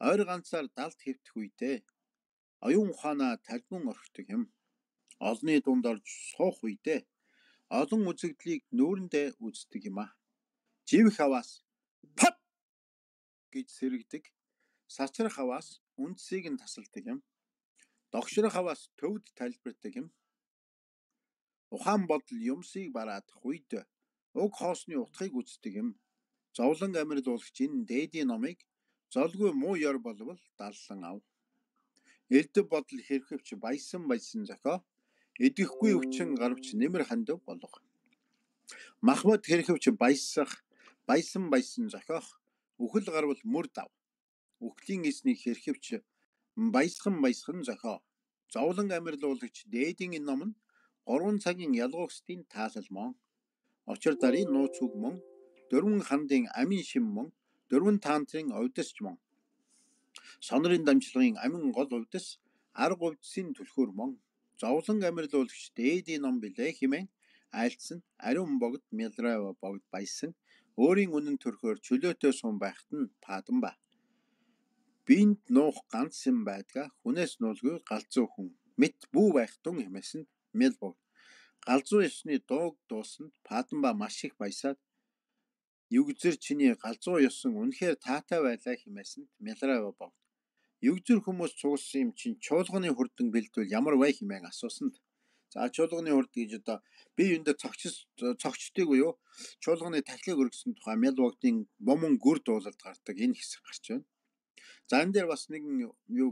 Ойр ганцаар далд хэвтэх үедээ оюун ухаанаа талбин орхидог юм. Олны дунд орж суух үедээ олон үзэгдлийг нүүрэндээ үздэг юм. Живх аваас пап гэж сэрэгдэг. Сачрах аваас үндсийг нь тасалдаг юм. Догшрох аваас төвд тайлбардаг юм. Ухаан бодол юмсыг бараадах үед уг хоосны утгыг үздэг юм. Зовлон амьрлуулагч энэ дээдийн номыг золгүй муу ёр болвол даллан ав. Элдв бодол хэрхэвч баясан зохио идэхгүй өвчин гарвч нэмэр хандив болго. Махмад хэрхэвч баясан зохиох үхэл гарвал мөр дав. Үхлийн эснийг хэрхэвч баясхан зохио. Зовлон амьрлуулагч дээдийн энэ ном нь 3 цагийн ялгуугсдын таалал мөн. Очир дарын нууц үг мөн. 4 хандын амин шим мөн. 4 таантрын овдосч мөн. Сонрын дамжлагын амин гол овдос арга овдсын түлхүүр мөн. Зовлон амьрлуулагч дээдийн ном билээ хэмээн айлтсан ариун богд мэлрэв богд баясан өөрийн үнэн төрхөөр чөлөөтэй сум байхад нь Падамба. Бинд нуух ганц юм байдгаа хүнээс нуулгүй галзуу хүн мэт бүү байх тун хэмээсэнд мэл богд. Галзуу ёсны дууг дуусанд Падамба маш их баясаад югзэр чиний галзуу ёсон үнэхээр таатай байлаа хэмээсэнд мэлрэв богд. Югзэр хүмүүс цугсан юм чинь чуулганы хурдан бэлдвэл ямар бай хэмээн асуусанд. За чуулганы хурд гэж одоо би юунд цогчдгийг буюу чуулганы тахлыг өргөсөн тухай мэл богдын бомон гүр дуулалд гардаг энэ хэсэг гарч байна. За энэ дээр бас нэгэн юу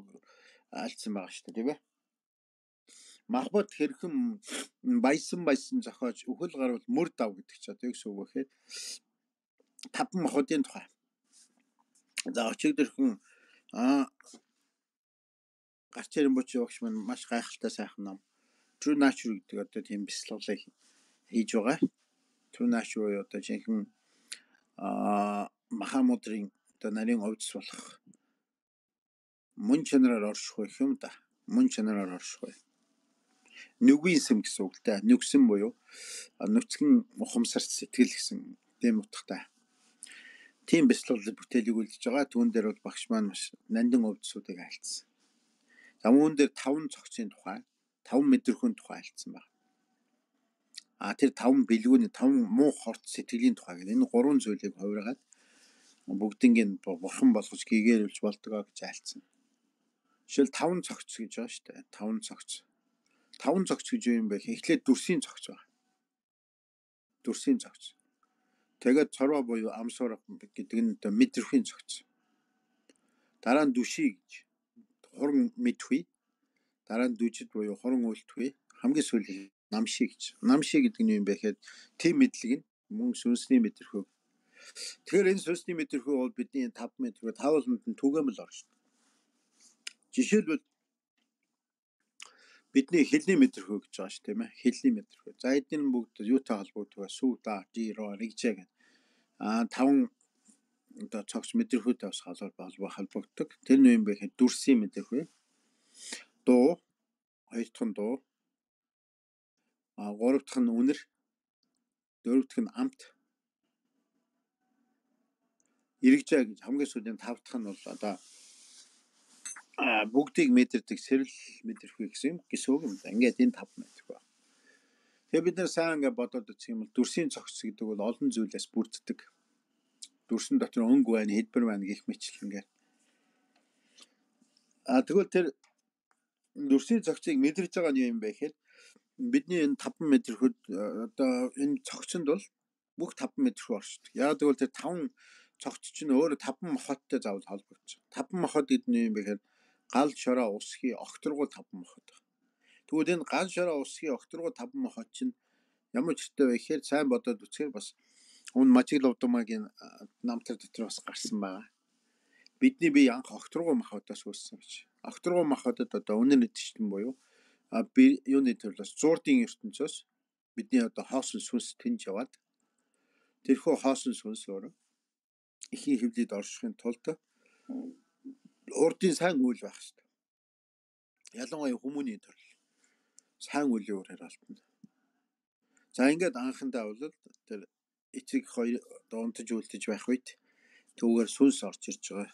альцсан байгаа шүү дээ тийм ээ. Махбат хэрхэн баясан зохиож үхэл гарвал мөр дав гэдэг ч одоо юу гэсэн үг вэ гэхээр 5 махбодын тухай. За өчигдөрхөн гарч ирэн буч явагч маань маш гайхалтай сайхан ном. True Nature гэдэг одоо тийм бясалгалыг хийж байгаа. True Nature одоо жинхэнэ Махамудрын одоо нарийн овдс болох мөн чанараар орших юм да. Мөн чанараар орших. Нүгүйсэм гэсэн үгтэй. Нүгсэн буюу нүцгэн ухамсарт сэтгэл гэсэн тийм утгатай. Тийм бясалгал бүтээлийг үлдэж байгаа. Түүн дээр бол багш маань маш нандин овдсуудыг айлцсан. За үүн дээр 5 цогцын тухай, 5 мэдрэхүйн тухай айлцсан байна. Тэр 5 бэлгүүний 5 муу хорт сэтгэлийн тухай гэдэг. Энэ 3 зүйлийг хувиргаад бүгднийг бурхан болгож гэгэрүүлж болдгоо гэж айлцсан. Жишээл 5 цогц гэж байгаа шүү дээ. 5 цогц. 5 цогц гэж юу юм бэ? Эхлээд дүрсийн цогц байна. Дүрсийн цогц. Тэгээд цорва буюу амсуур гэдэг нь одоо мэдрэхүйн цогц. Дараа нь дүший гэж хуран мэдхүй. Дараа нь дүжид буюу хуран үйлдэхүй. Хамгийн сүүлийн намший гэж. Намший гэдэг нь юм бэ гэхэд тийм мэдлэг нь мөн сүнсний мэдрэхүй. Тэгэхээр энэ сүнсний мэдрэхүй бол бидний 5 мэдрэхүй 5 болгонд нь түгээмэл орно шүү дээ. Жишээлбэл бидний хэлний мэдрэхүй гэж байгаа шүү тийм ээ. Хэлний мэдрэхүй. За эдгээр нь бүгд юутай холбогддог вэ? Сүү, да, жи, ро, ригжээ гэдэг. 5 одоо цогц мэдрэхүйтэй бас холбогддог. Тэр нь юм бэ гэхэд дүрсийн мэдрэхүй. Дуу, хоёр дахь нь дуу. Гурав дахь нь үнэр. Дөрөв дахь нь амт. Иргэжээ гэж хамгийн сүүлийн 5 дахь нь бол одоо бүгдийг мэдэрдэг сэрэл мэдрэхүй гэсэн үг юм да. Ингээд энэ 5 мэдрэхүй. Тэгээ бид нар сайн ингээд бодоод үзэх юм бол дүрсийн цогц гэдэг бол олон зүйлээс бүрддэг. Дүрсэн дотор өнгө байна, хэлбэр байна гэх мэтлэнгээр. Тэгвэл тэр дүрсийн цогцыг мэдэрж байгаа нь юм бэ гэхээр бидний энэ 5 мэдрэхүйд одоо энэ цогцонд бол бүх 5 мэдрэхүй оршдог. Яг тэгвэл тэр 5 цогц чинь өөрөө 5 мохоттой заавал холбогдсон. 5 мохот гэдэг нь юм бэ гэхээр гал, шороо, усхий, огторгуул 5 мохот. Тэгвэл энэ гал, шороо, усхий, огторгуул 5 мохот чинь ямар чиртэй вэ гэхээр сайн бодоод үзэхээр бас өмнө Мажиг Ловдомагийн намтар дотор бас гарсан байгаа. Бидний бие анх огторгуул мохотоос үүссэн гэж. Огторгуул мохотод одоо үнэр нэдчтэн буюу юуны төрлөөс зуурдын ертөнцөөс бидний одоо хоосон сүнс тэнж яваад тэрхүү хоосон сүнс өөрөө ихийн хөвлөд оршихын тулд урдын сайн үйл байх хэрэгтэй. Ялангуяа хүмүүний төрөл сайн үлийн үрээр алдна. За ингээд анхандаа бол тэр эцэг хоёр донтож үлдэж байх үед түүгээр сүнс орж ирж байгаа.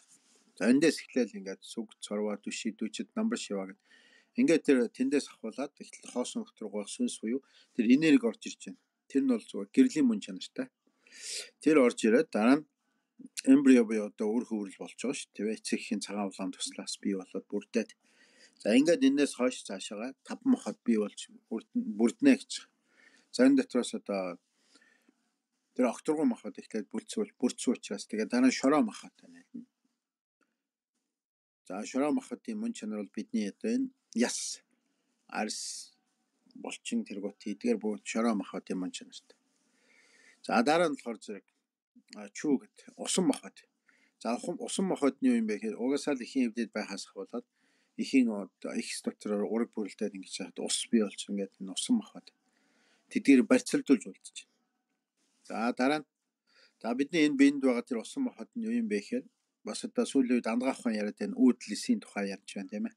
За эндээс эхлээл ингээд сүг, цорва, дүший, дүжид, намбар шиваа гэдэг. Ингээд тэр тэндээс ахуулаад эхлэл хоосон огторгуул сүнс буюу тэр энерги орж ирж байна. Тэр нь бол зүгээр гэрлийн мөн чанартай. Тэр орж ирээд дараа нь эмбрио буюу одоо үр хөврөл болж байгаа шүү дээ. Эцэгхийн цагаан улаан туслаас бий болоод бүрдээд. За ингээд энэс хойш цаашаага 5 мохот бий болж бүрднэ гэж. За энэ дотроос одоо тэр огторгуул мохот эхлээд бүрдсэн учраас тэгээд дараа нь шороо мохот байна. За шороо мохотын мөн чанар бол бидний одоо энэ яс, арс, булчин тэргүүт эдгээр бүгд шороо мохотын мөн чанартай. За дараа нь болохоор зэрэг чүү гэдэг усан мохот. За усан мохот нь юу юм бэ гэхээр угаасаа л ихийн хөвдөд байхаас болоод ихийн ихс дотороор ураг бүрэлдээд ингэж хаад ус бий болж ингээд энэ усан мохот. Тэдгээр барьцалдуулж үлдэж байна. За дараа нь бидний энэ биед байгаа тэр усан мохот нь юу юм бэ гэхээр бас одоо сүүлийн үед андгаах ухаан яриад энэ үүдлэсийн тухай ярьж байна тийм ээ.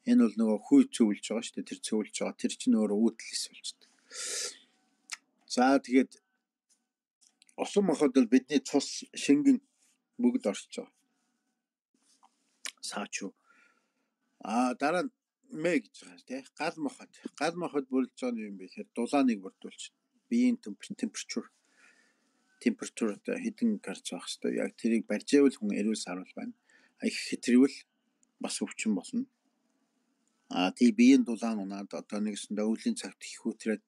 Энэ бол нөгөө хүй цөвлж байгаа шүү дээ. Тэр цөвлж байгаа. Тэр чинь өөрөө үүдлэс болчихдог. За тэгээд усан мохот бол бидний цус, шингэн бүгд оршиж байгаа. Саачуу. Дараа нь мэ гэж байгаа тийм гал мохот. Гал мохот бүрдэж байгаа юм бэ гэхээр дулааныг бүрдүүлж биеийн температур одоо хэдэн градус байх хэвээр яг тэрийг барьжээвэл хүн эрүүл сарвал байна. Их хэтрүүл бас өвчин болно. Тэгээ биеийн дулаан унаад одоо нэгсэндээ өвлийн цагт их хөтрээд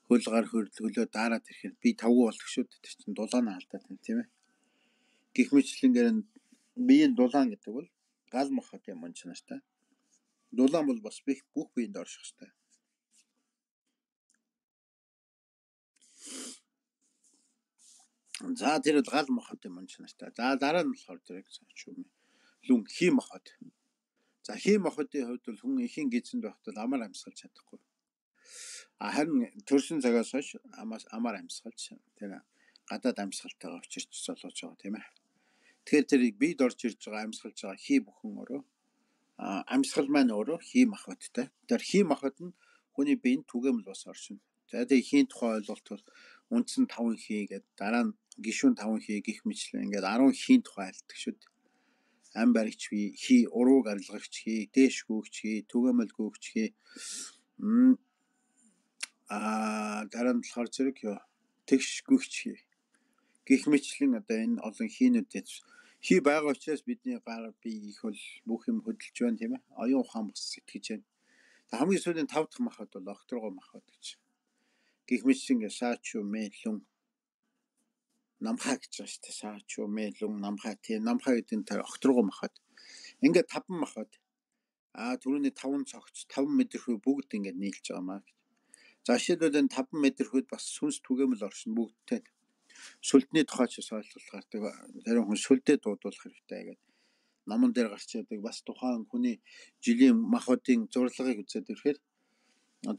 хөл гар хөлөө дараад ирэхэд би тавгүй болдог шүү дээ. Тэр чинь дулаан алдаад байна тийм ээ. Гэх мэтлэнгээр биеийн дулаан гэдэг бол гал мохотын мөн чанартай. Дулаан бол бас бүх биеинд орших хэрэгтэй. За тэр бол гал мохотын мөн чанартай. За дараа нь болохоор зэрэг лүн хий мохот. За хий мохотын хувьд бол хүн ихийн гизэнд байхдаа амар амьсгалж чадахгүй. Харин төрсөн цагаас хойш амар амьсгалж тэр гадаад амьсгалтайгаа учирч золоож байгаа тийм ээ. Тэгэхээр тэр бид орж ирж байгаа амьсгалж байгаа хий бүхэн өөрөө амьсгал маань өөрөө хий мохоттой. Тэр хий мохот нь хүний биеинд түгээмэл бас оршино. За тэгээхийн тухай ойлголт бол үндсэн 5 хий гэдэг дараа нь гишүүн 5 хий гих мэтлэн ингээд 10 хийн тухай айлтдаг шүү дээ. Ам баригч хий, урууг арилгагч хий, дээш гүгч хий, түгээмэл гүгч хий. Дараа нь болохоор зэрэг тэгш гүгч хий. Гих мэтлэн одоо энэ олон хийнүүдэд хий байгаа учраас бидний гар бие их бол бүх юм хөдөлж байна тийм ээ. Оюун ухаан бас сэтгэж байна. Хамгийн сүүлийн 5 дахь махад бол огторгуул махад гэж. Гих мэтлэн саачуу, мэлүн, намхаа гэж байгаа шүү дээ. Саач юу мэлүн намхаа тийм намхаа гэдэг нь тэр огторгоо махад. Ингээд 5 махад түрүүний 5 цогц 5 мэдрэхүй бүгд ингээд нийлж байгаа маа. За жишээлбэл энэ 5 мэдрэхүйд бас сүнс түгээмэл оршин бүгдтэй. Сүлдний тухай ч ойлголохоор тэр хүн сүлдээ дуудуулах хэрэгтэй гэдэг. Номон дээр гарч яадаг бас тухайн хүний жилийн махуудын зурлагыг үзээд ирэхээр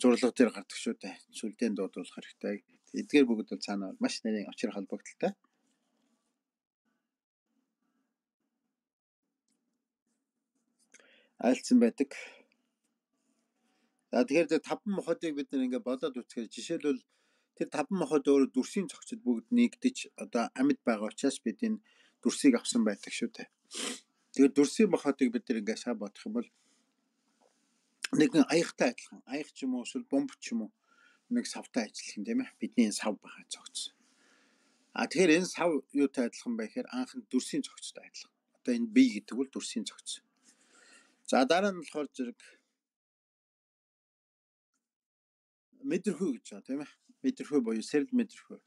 зурлага дээр гардаг шүү дээ. Сүлдээ дуудуулах хэрэгтэй. Эдгээр бүгд бол цаана маш нарийн очир холбогдолтой. Айлцсан байдаг. За тэгэхээр тэр 5 мохотыг бид нэг ингээд бодоод үзэхээр жишээлбэл тэр 5 мохот өөрөө дүрсийн цогцод бүгд нэгдэж одоо амьд байгаа учраас бид энэ дүрсийг авсан байдаг шүү дээ. Тэгэхээр дүрсийн мохотыг бид нэг ингээд сайн бодох юм бол нэгэн аягтай адилхан. Аяг ч юм уу эсвэл бомб ч юм уу нэг савтай ажиллах юм тийм ээ. Бидний сав байгаа цогц. Тэгэхээр энэ сав юутай адилхан бэ гэхээр анх нь дүрсийн цогцтой адилхан. Одоо энэ бие гэдэг бол дүрсийн цогц. За дараа нь болохоор зэрэг мэдрэхүй гэж байгаа тийм ээ. Мэдрэхүй буюу сэрэл мэдрэхүй.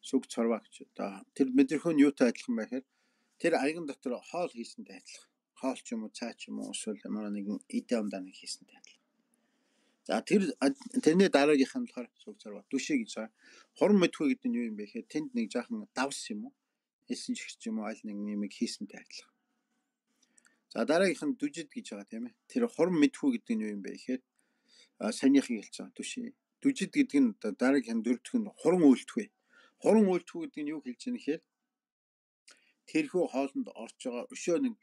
Сүг цорва гэж одоо тэр мэдрэхүй нь юутай адилхан бэ гэхээр тэр аяган дотор хоол хийсэнтэй адилхан. Хоол ч юм уу цаа ч юм уу эсвэл ямар нэгэн эдэ амдаа нэг хийсэнтэй адилхан. За тэрний дараагийнх нь болохоор сүг цорва дүшээ гэж байгаа. Хуран мэдрэхүй гэдэг нь юу юм бэ гэхээр тэнд нэг жаахан давс юм уу элсэн чихч юм уу аль нэг нэмийг хийсэнтэй адилхан. За дараагийнх нь дүжид гэж байгаа тийм ээ. Тэр хуран мэдрэхүй гэдэг нь юу юм бэ гэхээр санийхыг хэлж байгаа дүшээ. Дүжид гэдэг нь дараагийн дөрөвдөх нь хуран үйлдэхүй. Хуран үйлдэхүй гэдэг нь юу хэлж байгаа нэхээр тэрхүү хоолнд орж байгаа өшөө нэг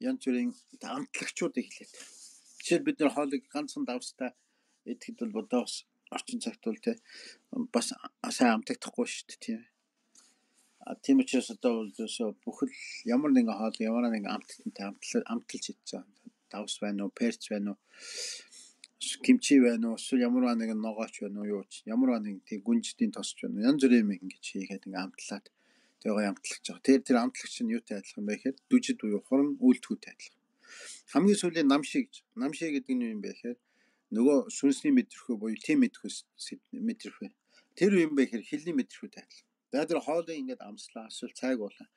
янз бүрийн амтлагчуудыг хэлээд. Жишээл бид нар хоолыг ганцхан давстай идэхэд бол бодоос орчин цагт бол тэ бас сайн амтагдахгүй шүү дээ тийм. Тийм учраас одоо бол бүхэл ямар нэгэн хоол ямар нэгэн амттай амталж идэж байгаа. Давс байна уу, перц байна уу, кимчи байна уу, эсвэл ямар нэгэн ногооч байна уу, юу ч ямар нэгэн тийм гүнждийн тосч байна уу, янз бүрийн юм ингэж хийгээд ингээ амтлаад тэгээ амтлагч байгаа. Тэр амтлагч нь юутай адилхан бэ гэхээр дүжид буюу хуран үйлдэхүйтэй адилхан. Хамгийн сүүлийн намшиг гэдэг нь юу юм бэ гэхээр нөгөө сүнсний мэдрэхүй буюу тийм мэдрэхүй. Тэр юм бэ гэхээр хилний мэдрэхүйтэй адилхан. За тэр хоолыг ингээд амслаа эсвэл цайг уулаа.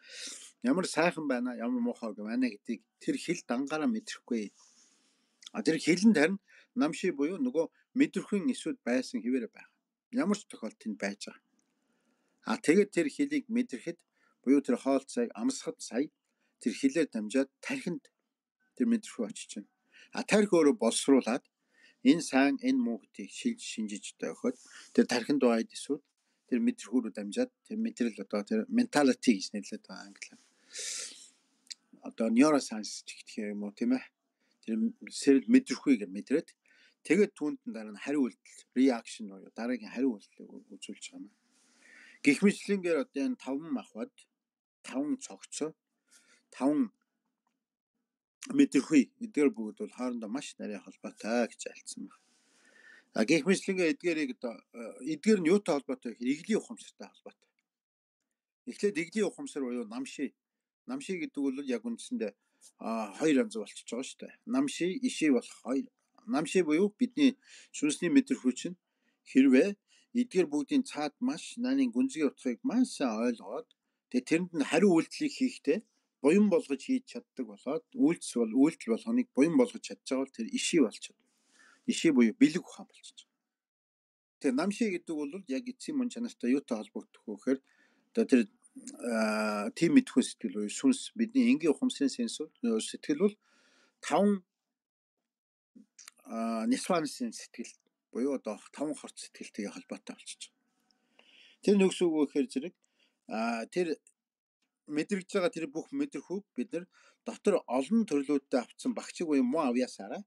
Ямар сайхан байна, ямар муухай байна гэдгийг тэр хил дангаараа мэдрэхгүй. Тэр хилэнд харин намшиг буюу нөгөө мэдрэхүйн эсүүд байсан хэвээр байна. Ямар ч тохиолдолд тэнд байж байгаа. Тэгээд тэр хилийг мэдрэхэд буюу тэр хоол цайг амсахад сая тэр хилээр дамжаад тархинд тэр мэдрэхүй очиж байна. Тархи өөрөө боловсруулад энэ сайн энэ муу гэдгийг шинжиж өгөхөд тэр тархинд байгаа эсүүд тэр мэдрэхүүрөө дамжаад тэр мэдрэл одоо тэр mentality гэж нэрлэдэг байгаа англиар. Одоо neuroscience гэх юм уу тийм ээ. Тэр сэрэл мэдрэхүйгээр мэдрээд тэгээд түүнд дараа нь хариу үйлдэл reaction буюу дараагийн хариу үйлдэлийг үзүүлж байгаа юм. Гэх мэтлэнгээр одоо энэ 5 махбод 5 цогцоо 5 мэдрэхүй эдгээр бүгд бол хоорондоо маш нарийн холбоотой гэж альцсан байна. Гэх мэтлэнгээр эдгээр нь юутай холбоотой гэхээр иглийн ухамсартай холбоотой. Эхлээд иглийн ухамсар буюу намшиг гэдэг бол яг үндсэндээ хоёр янз болчихж байгаа шүү дээ. Намшиг, иший болох хоёр. Намшиг буюу бидний сүнсний мэдрэхүй чинь хэрвээ эдгээр бүгдийн цаад маш нарийн гүнзгий утгыг маш сайн ойлгоод тэгээд тэрэнд нь хариу үйлдэлийг хийхдээ буян болгож хийж чаддаг болоод үйлдэл болгоныг буян болгож чадж байгаа бол тэр иший болчиход. Иший буюу бэлэг ухаан болчихж байгаа. Тэр намшиг гэдэг бол яг эцсийн мөн чанартай юутай холбогдох вэ гэхээр одоо тэр тийм мэдхүй сэтгэл буюу сүнс бидний энгийн ухамсарын сэтгэл бол 5 нисванысын сэтгэл буюу одоо 5 хорт сэтгэлтэйгээ холбоотой болчихж байгаа. Тэр нүгс үг гэхээр зэрэг тэр мэдрэгж байгаа тэр бүх мэдрэхүйг бид нар дотор олон төрлүүдтэй авцсан багчиг буюу муу авьяасаараа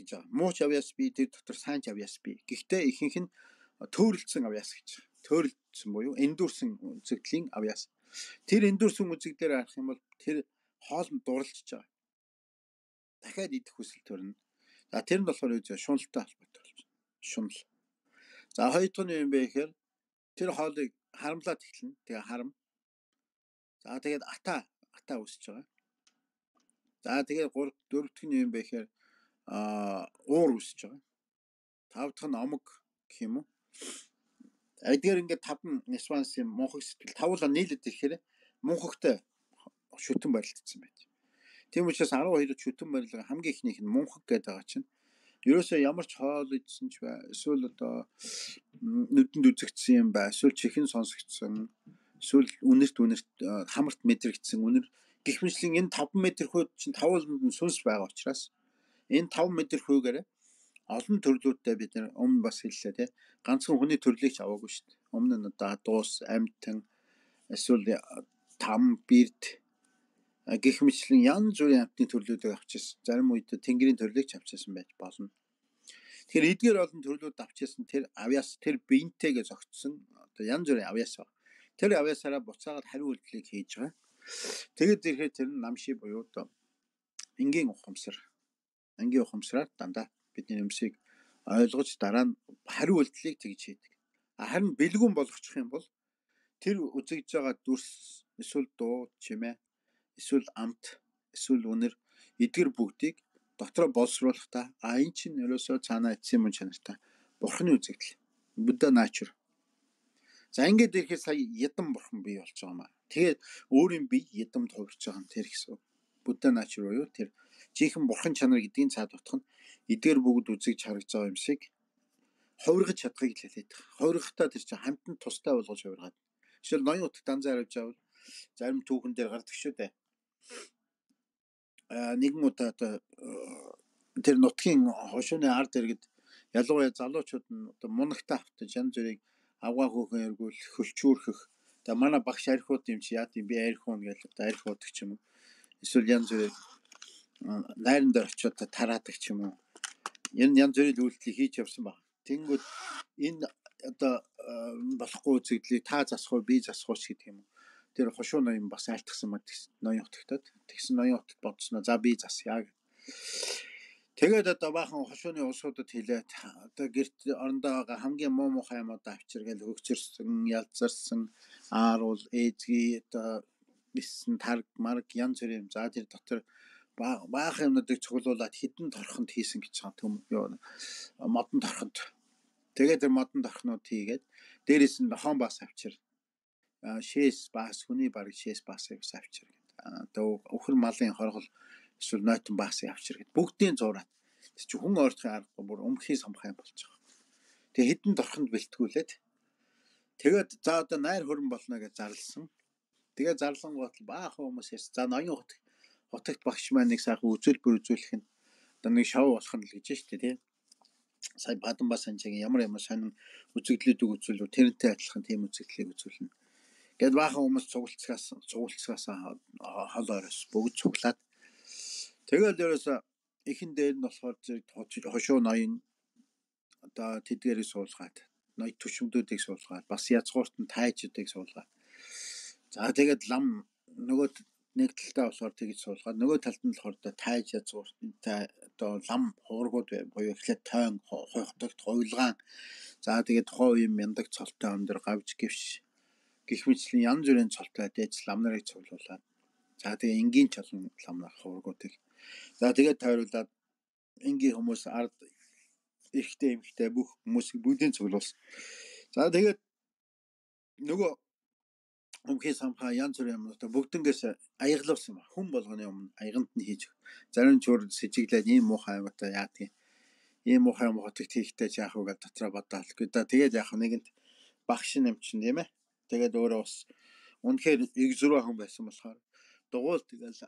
гэж байгаа. Мууч авьяас би тэр дотор сайн авьяас би. Гэхдээ ихэнх нь төөрөлдсөн авьяас гэж. Төөрөлдсөн буюу эндүрсэн үзэгдлийн авьяас. Тэр эндүрсэн үзэгдлээр харах юм бол тэр хоолнд дурлж байгаа. Дахиад идэх хүсэл төрнө. За тэр нь болохоор юу вэ? Шуналтай холбоотой болж байна. Шунал. За хоёр дахь нь юу юм бэ гэхээр тэр хоолыг харамлаад эхэлнэ. Тэгээ харам. За тэгээд ата үсэж байгаа. За тэгээд дөрөв дахь нь юу юм бэ гэхээр уур үсэж байгаа. Тав дахь нь омог гэх юм уу? Эдгээр ингээд 5 Нисвансын мунхаг сэтгэл тавуулаа нийлээд ирэхээр мунхагтай шүтэн барилдсан байж. Тийм учраас 12-д шүтэн барилга хамгийн ихнийх нь мунхаг гэдэг байгаа чинь ерөөсөө ямар ч хоол идсэн ч бай, эсвэл одоо нүдэнд үзэгдсэн юм бай, эсвэл чихэн сонсогдсон, эсвэл үнэрт хамарт мэдрэгдсэн үнэр гэх мэтлэн энэ 5 метр хүйд чинь тавууланд нь сүнс байгаа учраас энэ 5 метр хүйгээр олон төрлүүдтэй бид нар өмнө бас хэллээ тий. Ганцхан хүний төрлийг ч аваагүй шүү дээ. Өмнө нь одоо дуус, амьтан, эсвэл там, бирд гэх мэтлэн янз бүрийн амьтны төрлүүдийг авчихсан. Зарим үед тэнгэрийн төрлийг ч авчихсан байж болно. Тэгэхээр эдгээр олон төрлүүд авчихсан тэр авьяас тэр биентэйгээ зогтсон одоо янз бүрийн авьяас баг. Тэр авьяасаараа буцаагаад хариу үйлдэлийг хийж байгаа. Тэгэд ирэхэд тэр нь намши буюу одоо энгийн ухамсараар дандаа бидний юмсыг ойлгож дараа нь хариу үйлдэлийг тэгж хийдэг. Харин бэлгүүн болгочих юм бол тэр үзэгдэж байгаа дүрс эсвэл дуу чимээ эсвэл амт эсвэл үнэр эдгээр бүгдийг дотроо боловсруулахдаа энэ чинь ерөөсөө цаанаа эцсийн мөн чанартай бурхны үзэгдэл. Будда nature. За ингээд ирэхэд сая ядан бурхан бий болж байгаа маа. Тэгээд өөрийн бие ядамд хувирч байгаа нь тэр гэсэн. Будда nature буюу тэр жинхэнэ бурхан чанар гэдгийн цаад утга нь эдгээр бүгд үзэгж харагдж байгаа юмсыг хувиргаж чадахыг л хэлээд байгаа. Хувиргахдаа тэр чинь хамтанд тустай болгож хувиргаад. Жишээл ноён утга данзаа харуулж авал зарим түүхэн дээр гардаг шүү дээ. Нэгэн удаа тэр нутгийн хошууны ард иргэд ялангуяа залуучууд нь одоо мунагтаа автаж янз бүрийг авгаа хөөхөн эргүүл хөлчүүрхэх. Тэгээ манай багш архиуд юм чи яа тийм би архиун гэж одоо архиудаг ч юм уу. Эсвэл янз бүрийг найран дээр очиод тараадаг ч юм уу. Энэ янз бүрийн үйлдэлийг хийж явсан баг. Тэнгүүд энэ одоо болохгүй үзэгдлийг та засах уу би засах уу гэдэг юм. Тэр хошуу ноён бас айлтгсан мод ноён утгатад. Тэгсэн ноён утгад бодсноо за би засъя. Тэгээд одоо баахан хошууны улсуудад хэлээд одоо гэрт орондоо байгаа хамгийн муухай юмуд авчиргээл хөгчөрсөн, ялзарсан, ааруул, ээзги одоо биссэн тарг, марг янз бүрийн за тэр дотор баахан юмнуудыг цуглуулад хідэн торхонд хийсэн гэж байгаа юм юу модон торхонд. Тэгээд тэр модон торхнууд хийгээд дээрээс нь нохон бас авчир. Шээс бас хүний баг шээс бас авчир гэдэг. Одоо өхөр малын хоргол эсвэл нойтон бас авчир гэдэг. Бүгдийн зураад. Тэг чи хүн ойртохын аргагүй бүр өмхий самхай болж байгаа. Тэг хідэн торхонд бэлтгүүлээд тэгээд за одоо найр хөрөн болно гэж зарлсан. Тэгээд зарлан гот баахан хүмүүс яс. За ноён хотогт багш маань нэг сайхан үзүүлбэр үзүүлэх нь одоо нэг шоу болох нь л гэж шүү дээ тий. Сая Баданбас санчаагийн ямар сонин үзэгдлүүдийг үзүүлв тэрнтэй адилхан тийм үзэгдлийг үзүүлнэ. Гэт баахан хүмүүс цугулцгаас хол орос бүгд цуглаад тэгэл дээрээс ихэн дээр нь болохоор хошуу ноён одоо тэдгэрийг суулгаад ноёд төшмдүүдийг суулгаад бас язгуурт нь тайжуудыг суулгаад за тэгээд лам нөгөө нэг талтаа болохоор тэгж суулгаад нөгөө талд нь болохоор тайж язгууртай одоо лам хуургууд буюу эхлээд тойн хойхтогт хуйлгаан за тэгээд тухайн үеийн мяндаг цолтой өндөр гавж гівш гэх мэтлийн янз бүрийн цолтой дэж лам нарыг цуглуулад за тэгээд энгийн чалан лам нар хуургуудыг за тэгээд тойруулаад энгийн хүмүүс ард эрэгтэй эмэгтэй бүх хүмүүсийг бүгдийг цуглуулсан. За тэгээд нөгөө өмхий самхаа янз бүрийн юмнуудаа бүгднгээс аяглуулсан ба хүн болгоны өмнө аяганд нь хийж зарим чуур сэжиглээд ийм муухай амтаа яадгийг ийм муухай юм хотогт хийхтэй ч яах вэ гэж дотроо бодоол. Тэгээд яах нэгэнт багш нэмчин тийм ээ. Тэгээд өөрөө бас үнэхээр иг зураа хүн байсан болохоор дугуйл тэгэл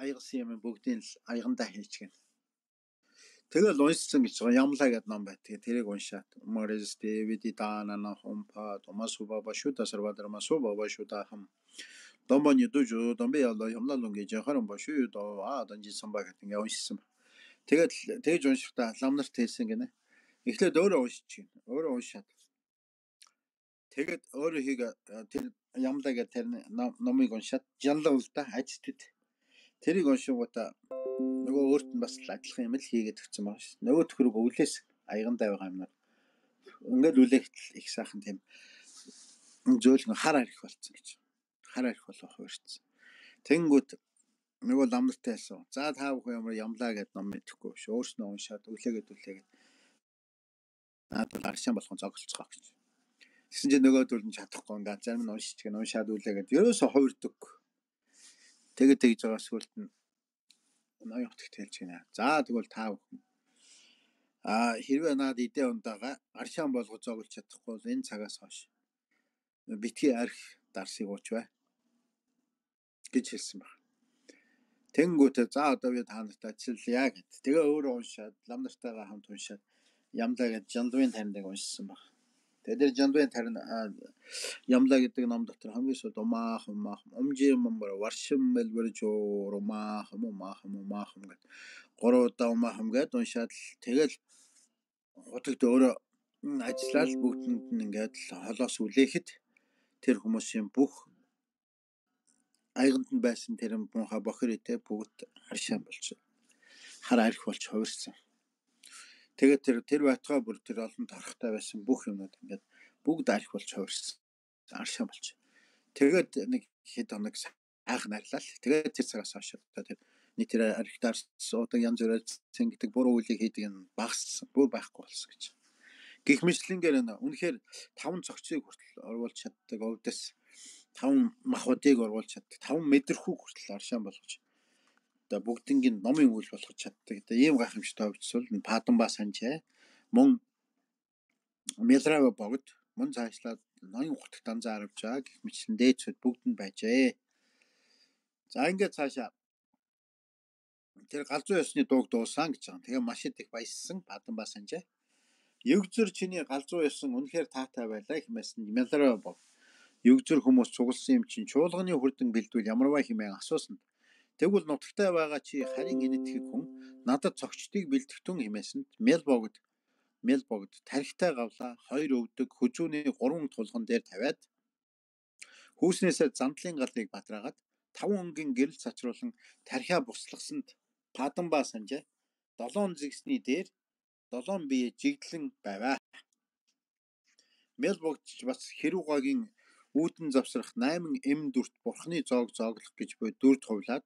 аягсан юм бүгдийг л аягандаа хийчихгэн. Тэгэл уншсан гэж байгаа ямлаа гэдэг ном бай. Тэгээ тэрийг уншаад Морис Дэвидиданана хомпа Томасуба башута сарвадармасуба башута хам домбони дужу домбе ялла ямлалунги жахарам башу до данжисан баг гэдэг ингээ уншсан. Тэгээд тэгж уншихдаа лам нарт хэлсэн гинэ. Эхлээд өөрөө уншиж чинь. Өөрөө уншаад. Тэгээд өөрөө хийгээ тэр ямлаа гэдэг тэр номыг уншаад жанлаа л да ажтд. Тэрийг уншингуудаа нөгөө өөрт нь бас адилхан юм л хийгээд өгсөн байна шүү. Нөгөө төхрөг өвлөөс аягандаа байгаа юм нар. Ингээд үлэхт их сайхан тийм зөөлөн хар арих болсон гэж. Хар арих болох хуурцсан. Тэнгүүд нөгөө лам нартай хэлсэн. За та бүхэн ямар ямлаа гэдэг ном мэдэхгүй биш. Өөрснөө уншаад үлээгээд. Надад аршаан болгон зоголцгоо гэж. Тэгсэн чинь нөгөөдөл нь чадахгүй ингээд зарим нь уншаад үлээгээд ерөөсө хувирдаг. Тэгээд тэгж байгаа сүлд нь ноён хотогт хэлж гинэ. За тэгвэл та бүхэн хэрвээ наад идэ ундаага аршаан болгож зоглож чадахгүй бол энэ цагаас хойш битгий арх дарсыг ууч бай гэж хэлсэн баг. Тэнгүүтээ за одоо би та нартай ажиллая гэд. Тэгээ өөрөө уншаад лам нартайгаа хамт уншаад Ямлаа гэж Жанлын тариныг уншсан баг. Тэгээд тэр Жанлын тарин Ямлаа гэдэг ном дотор хамгийн сүүлд умаахан умжиммар варшим мэлбэржөө умаахан гэд 3 удаа умаахан гэд уншаад тэгэл хотогт өөрөө ажиллаад бүгдэнд нь ингээд холоос үлээхэд тэр хүмүүсийн бүх айганд нь байсан тэр муухай бохиртэй бүгд аршаан болж хар арх болж хувирсан. Тэгээд тэр байтугай бүр тэр олон торхтой байсан бүх юмнууд ингээд бүгд арх болж хувирсан. Аршаан болж. Тэгээд нэг хэд хоног анх нарлаа. Тэгээд тэр цагаас хойш тэр тэр архитаар суудаг янз бүрээр цэн гэдэг буруу үйлийг хийдэг нь багассан. Бүр байхгүй болсон гэж. Гэх мэтлэнгээр үнэхээр 5 цогцыг хүртэл оруулж чаддаг өвдөс 5 махбодыг оруулж чаддаг 5 мэдрэхүүг хүртэл аршаан болгож одоо бүгднийг номын үйл болгож чаддаг. Одоо ийм гайхамшигтай өвчсөл Паданба Санжаа мөн Мэлрава богд мөн цаашлаад ноён хотогт данзаа аравж байгаа гэх мэтлэн дээдсүүд бүгд нь байжээ. За ингээд цаашаа тэр галзуу ёсны дууг дуусан гэж байгаа. Тэгээ маш их баяссан Паданба Санжаа. Югзүр чиний галзуу ёсон үнэхээр таатай байлаа хэмээсэн Мэлрава бог. Югзүр хүмүүс цугласан юм чинь чуулганы хүрдэн бэлдвэл ямарваа хэмээн асуусан. Тэгвэл нутагтай байгаа чи харин инэтгэх хүн надад цогчдыг бэлтгэтэн хэмээсэнд Мэл богд тархитай гавлаа 2 өвдөг хүзүүний 3 тулган дээр тавиад хүүснээсээ зандлын галыг батраагаад 5 өнгийн гэрэл цачруулан тархиа буслахсанд Паданба Санжаа 7 зэгсний дээр 7 бие жигдлэн байваа. Мэл богдч бас Хэрүүгагийн үүдэн завсрах 8 эм дүрт бурхны зоог зооглох гэж буй дүрд хувлаад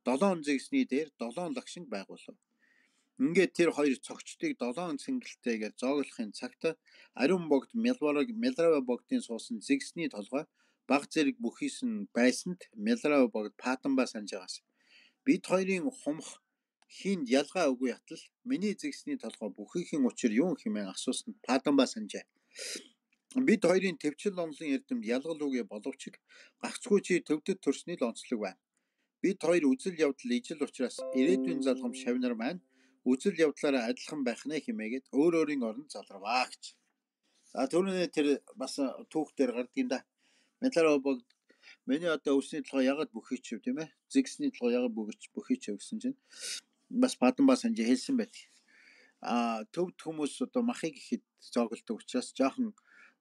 7 зэгсний дээр 7 лагшинг байгуулав. Ингээд тэр хоёр цогчдыг 7 цэнгэлтэйгээр зооглохын цагт ариун богд Мэлрава богдын суусан зэгсний толгой баг зэрэг бүхийс нь байсанд Мэлрава богд Паданба Санжаагаас бид хоёрын хумх хинд ялгаа үгүй ятал миний зэгсний толгой бүхийхийн учир юу хэмээн асуусан Паданба Санжаа. Бид хоёрын төвчл онлын эрдэмд ялгал үгүй боловч гагцхүү чи төвдөд төрсний л онцлог байна. Бид хоёр үзэл явдал ижил учраас ирээдүйн залгам шавнар маань үзэл явдлаараа адилхан байх нэ хэмээгээд өөрийн оронд залраваа гэж. За түрүүний тэр бас түүх дээр гардаг юм да. Мэлрава богд миний одоо өсний толгой ягаад бүхийчв тийм ээ. Зэгсний толгой ягаад бүхийчв гэсэн чинь бас Паданба Санжаа хэлсэн байдаг. Төвд хүмүүс одоо махыг ихэд зоогддог учраас жоохон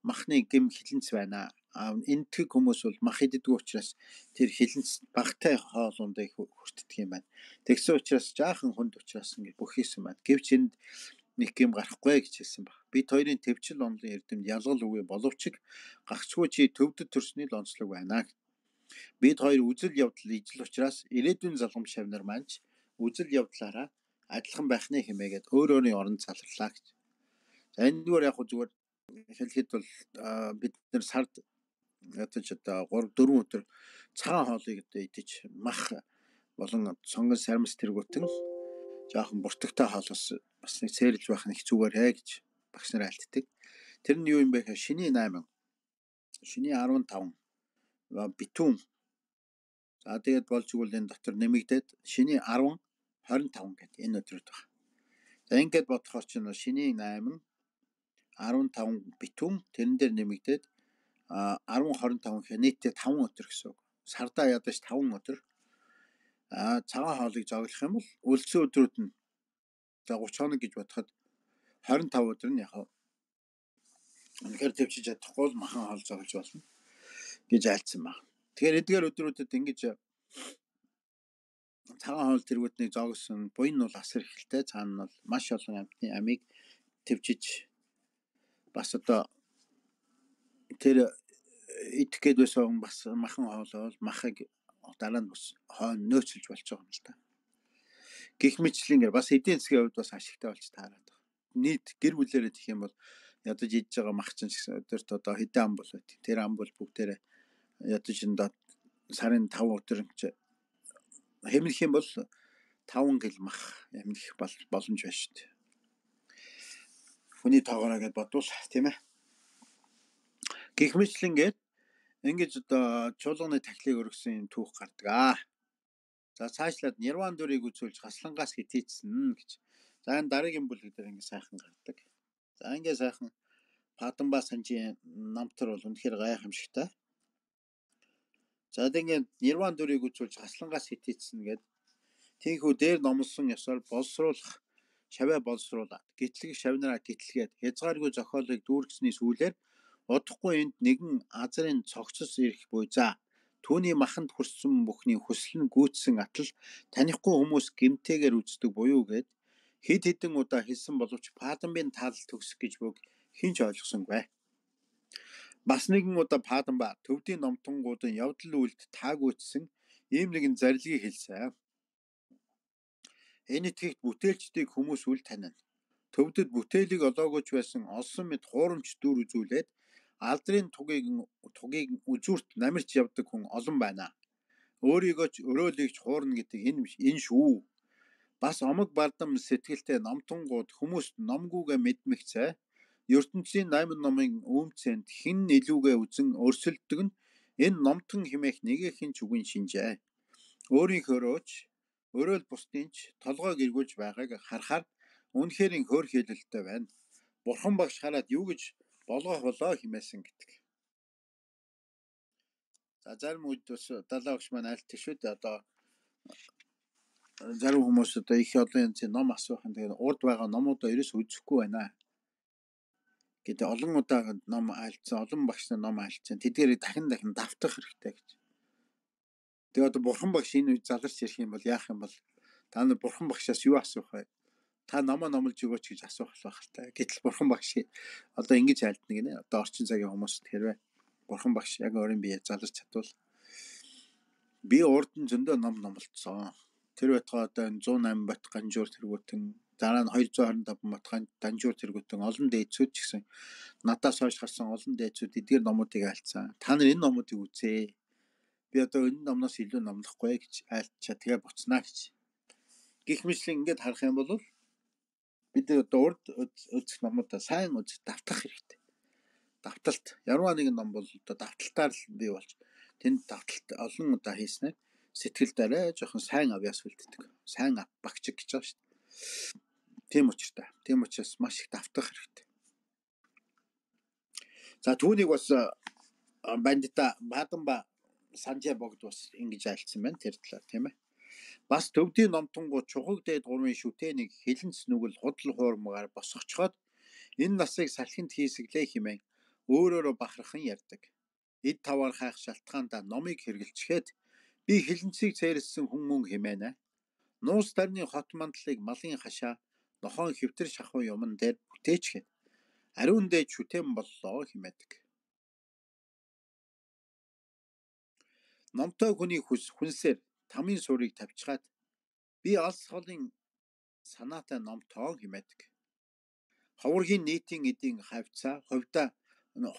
махны гэм хилэнц байна. Энтэг хүмүүс бол мах иддэг учраас тэр хилэнц багтай хоолундаа их хүртдэг юм байна. Тэгсэн учраас жаахан хүнд учраас ингэ бүхийсэн байна. Гэвч энд нэг гэм гарахгүй гэж хэлсэн баг. Бид хоёрын төвчл онлын эрдэмд ялгал үгүй боловч гагцгүй чи төвдөд төрсний л онцлог байна. Бид хоёр үзэл явдал ижил учраас ирээдүйн залгам шавнар маань үзэл явдлаараа адилхан байх нэ хэмээгээд өөрийн оронд залрлаа гэж. За эндгээр яг зүгээр хэлэхэд бол бид нар сард ятаж одоо 3-4 өдөр цагаан хоолыг одоо идэж мах болон сонгон сармс тэргүүтэн жоохон буртагтай хоолоос бас нэг сэрэлж байх нэг зүгээрээ гэж багш нар альтдаг. Тэр нь юу юм бэ гэхээр шиний 8, шиний 15 битүүн. За тэгээд болж игэл энэ дотор нэмэгдээд шиний 10, 25 гэдэг энэ өдрүүд байна. За ингээд бодохоор чинь шиний 8, 15 битүүн тэрэн дээр нэмэгдээд 10, 25 гэхэд нийтдээ 5 өдөр гэсэн үг. Сардаа ядаж 5 өдөр цагаан хоолыг зоглох юм бол үлдсэн өдрүүд нь за 30 хоног гэж бодоход 25 өдөр нь яг үнэхээр төвчж чадахгүй бол махан хоол зоглож болно гэж айлцсан байна. Тэгэхээр эдгээр өдрүүдэд ингэж цагаан хоол тэргүүднийг зоогсон буян нь бол асар ихтэй, цаана нь бол маш олон амьтны амийг төвчж бас одоо тэр идэх гээд байсан бас махан хоолоо бол махыг дараа нь бас нөөцлж болж байгаа юм л та. Гэх мэтлэнгээр бас эдийн засгийн хувьд бас ашигтай болж таараад байна. Нийт гэр бүлээрээ гэх юм бол ядаж идж байгаа мах чинь өдөрт одоо хэдэн ам бол байт. Тэр ам бол бүгдээрээ ядаж энэ сарын 5 өдөр хэмнэх юм бол 5 гэл мах хэмнэх боломж байна шүү дээ. Хүний тоогоороо гэж бодвол тийм ээ. Гэх мэтлэнгээд ингэж одоо чуулганы тахилыг өргөсөн түүх гардаг. За цаашлаад нирван дүрийг үзүүлж гаслангаас хитийцсэн гэж. За энэ дараагийн бүлэг дээр ингэ сайхан гардаг. За ингэ сайхан Паданба Санжийн намтар бол үнэхээр гайхамшигтай. За тэгээд нирван дүрийг үзүүлж гаслангаас хитийцсэн гэд тийхүү дээр номлосон ёсоор боловсруулах шаваа боловсруулаад гитлэг шавнараа гитлгээд хязгааргүй зохиолыг дүүргэсний сүүлээр удахгүй энд нэгэн азрын цогцос ирэх буй за түүний маханд хүрсэн бүхний хүсэл нь гүйцсэн атал танихгүй хүмүүс гэмтээгээр үздэг буюу гэд хэд хэдэн удаа хэлсэн боловч Паданбын таалал төгсөх гэж бүг хинч ойлгосонгүй. Бас нэгэн удаа Паданба төвдийн номтонгуудын явдал үйлд таагүйцсэн ийм нэгэн зарилгыг хэлсэн. Энэ итгэгт бүтээлчдийг хүмүүс үл танина. Төвдөд бүтээлийг олоогооч байсан олсон мэд хуурамч дүр үзүүлээд алдрын тугийг үзүүрт намирч явдаг хүн олон байна. Өөрийгөө ч өрөөлөгч хуурна гэдэг энэ шүү. Бас омог бардам сэтгэлтэй номтонгууд хүмүүст номгүйгээ мэдмэгцээ ертөнцийн 8 номын үүмцэнд хэн илүүгээ үзэн өрсөлдөг нь энэ номтон химээх нэгэхэн ч үгүй шинжээ. Өөрийнхөөрөөч өрөөл бусдынч толгойг эргүүлж байгааг харахаар үнэхээр хөр хэлэлтэй байна. Бурхан багш хараад юу гэж болгох болоо хэмээсэн гэдэг. За зарим үед бас далаа багш маань айлтдаг шүү дээ. Одоо зарим хүмүүс одоо их олон янзын ном асуухан тэгээд урд байгаа номуудаа ерөөс үзэхгүй байна гэдэг олон удаа ном айлтсан, олон багш нар ном айлтсан. Тэдгээрийг дахин давтах хэрэгтэй гэж. Тэгээд одоо бурхан багш энэ үед заларч ирэх юм бол яах юм бол та нар бурхан багшаас юу асуух вэ? Та намаа номлож өгөөч гэж асуух байх л та. Гэтэл бурхан багш одоо ингэж айлтна гинэ. Одоо орчин цагийн хүмүүст хэрвээ бурхан багш яг өөрийн биеэ заларч чадвал би урд нь зөндөө ном номлоцсон. Тэр байтугай одоо 108 бат ганжуур тэргүүтэн дараа нь 225 бат ганжуур тэргүүтэн олон дээдсүүд ч гэсэн надаас хойш гарсан олон дээдсүүд эдгээр номуудыг айлтсан. Та нар энэ номуудыг үзээ. Би одоо энэ номноос илүү номлохгүй гэж айлтчаа тэгээ буцнаа гэж. Гэх мэтлэн ингээд харах юм бол бид одоо урд үзэх номуудаа сайн үзэх давтах хэрэгтэй. Давталт. Яруу нэгэн ном бол одоо давталтаар л бий болж тэнд давталт олон удаа хийснээр сэтгэлд арай жоохон сайн авьяас үлддэг. Сайн багчиг гэж байгаа шүү дээ. Тийм учраас маш их давтах хэрэгтэй. За түүнийг бас бандита Паданба Санжаа богд бас ингэж айлцсан байна тэр талаар тийм ээ. Бас төвдийн номтонгууд чухаг дээд гурвын шүтээнийг хилэнц нүгэл худал хуурмгаар босгочхоод энэ насыг салхинд хийсэглээ хэмээн өөрөөрөө бахархан ярьдаг. Эд таваар хайх шалтгаандаа номыг хэргэлцгээд би хилэнцийг цээрэлсэн хүн мөн хэмээнэ. Нуус тарны хот мандлыг малын хашаа нохон хэвтэр шахуу юмн дээр бүтээчгээд ариун дээд шүтэн боллоо хэмээдэг. Номтой хүний хүнсээр тамийн суурийг тавьчихад би алс холын санаатай номтоо хэмээдэг. Хуваргийн нийтийн эдийн хавцаа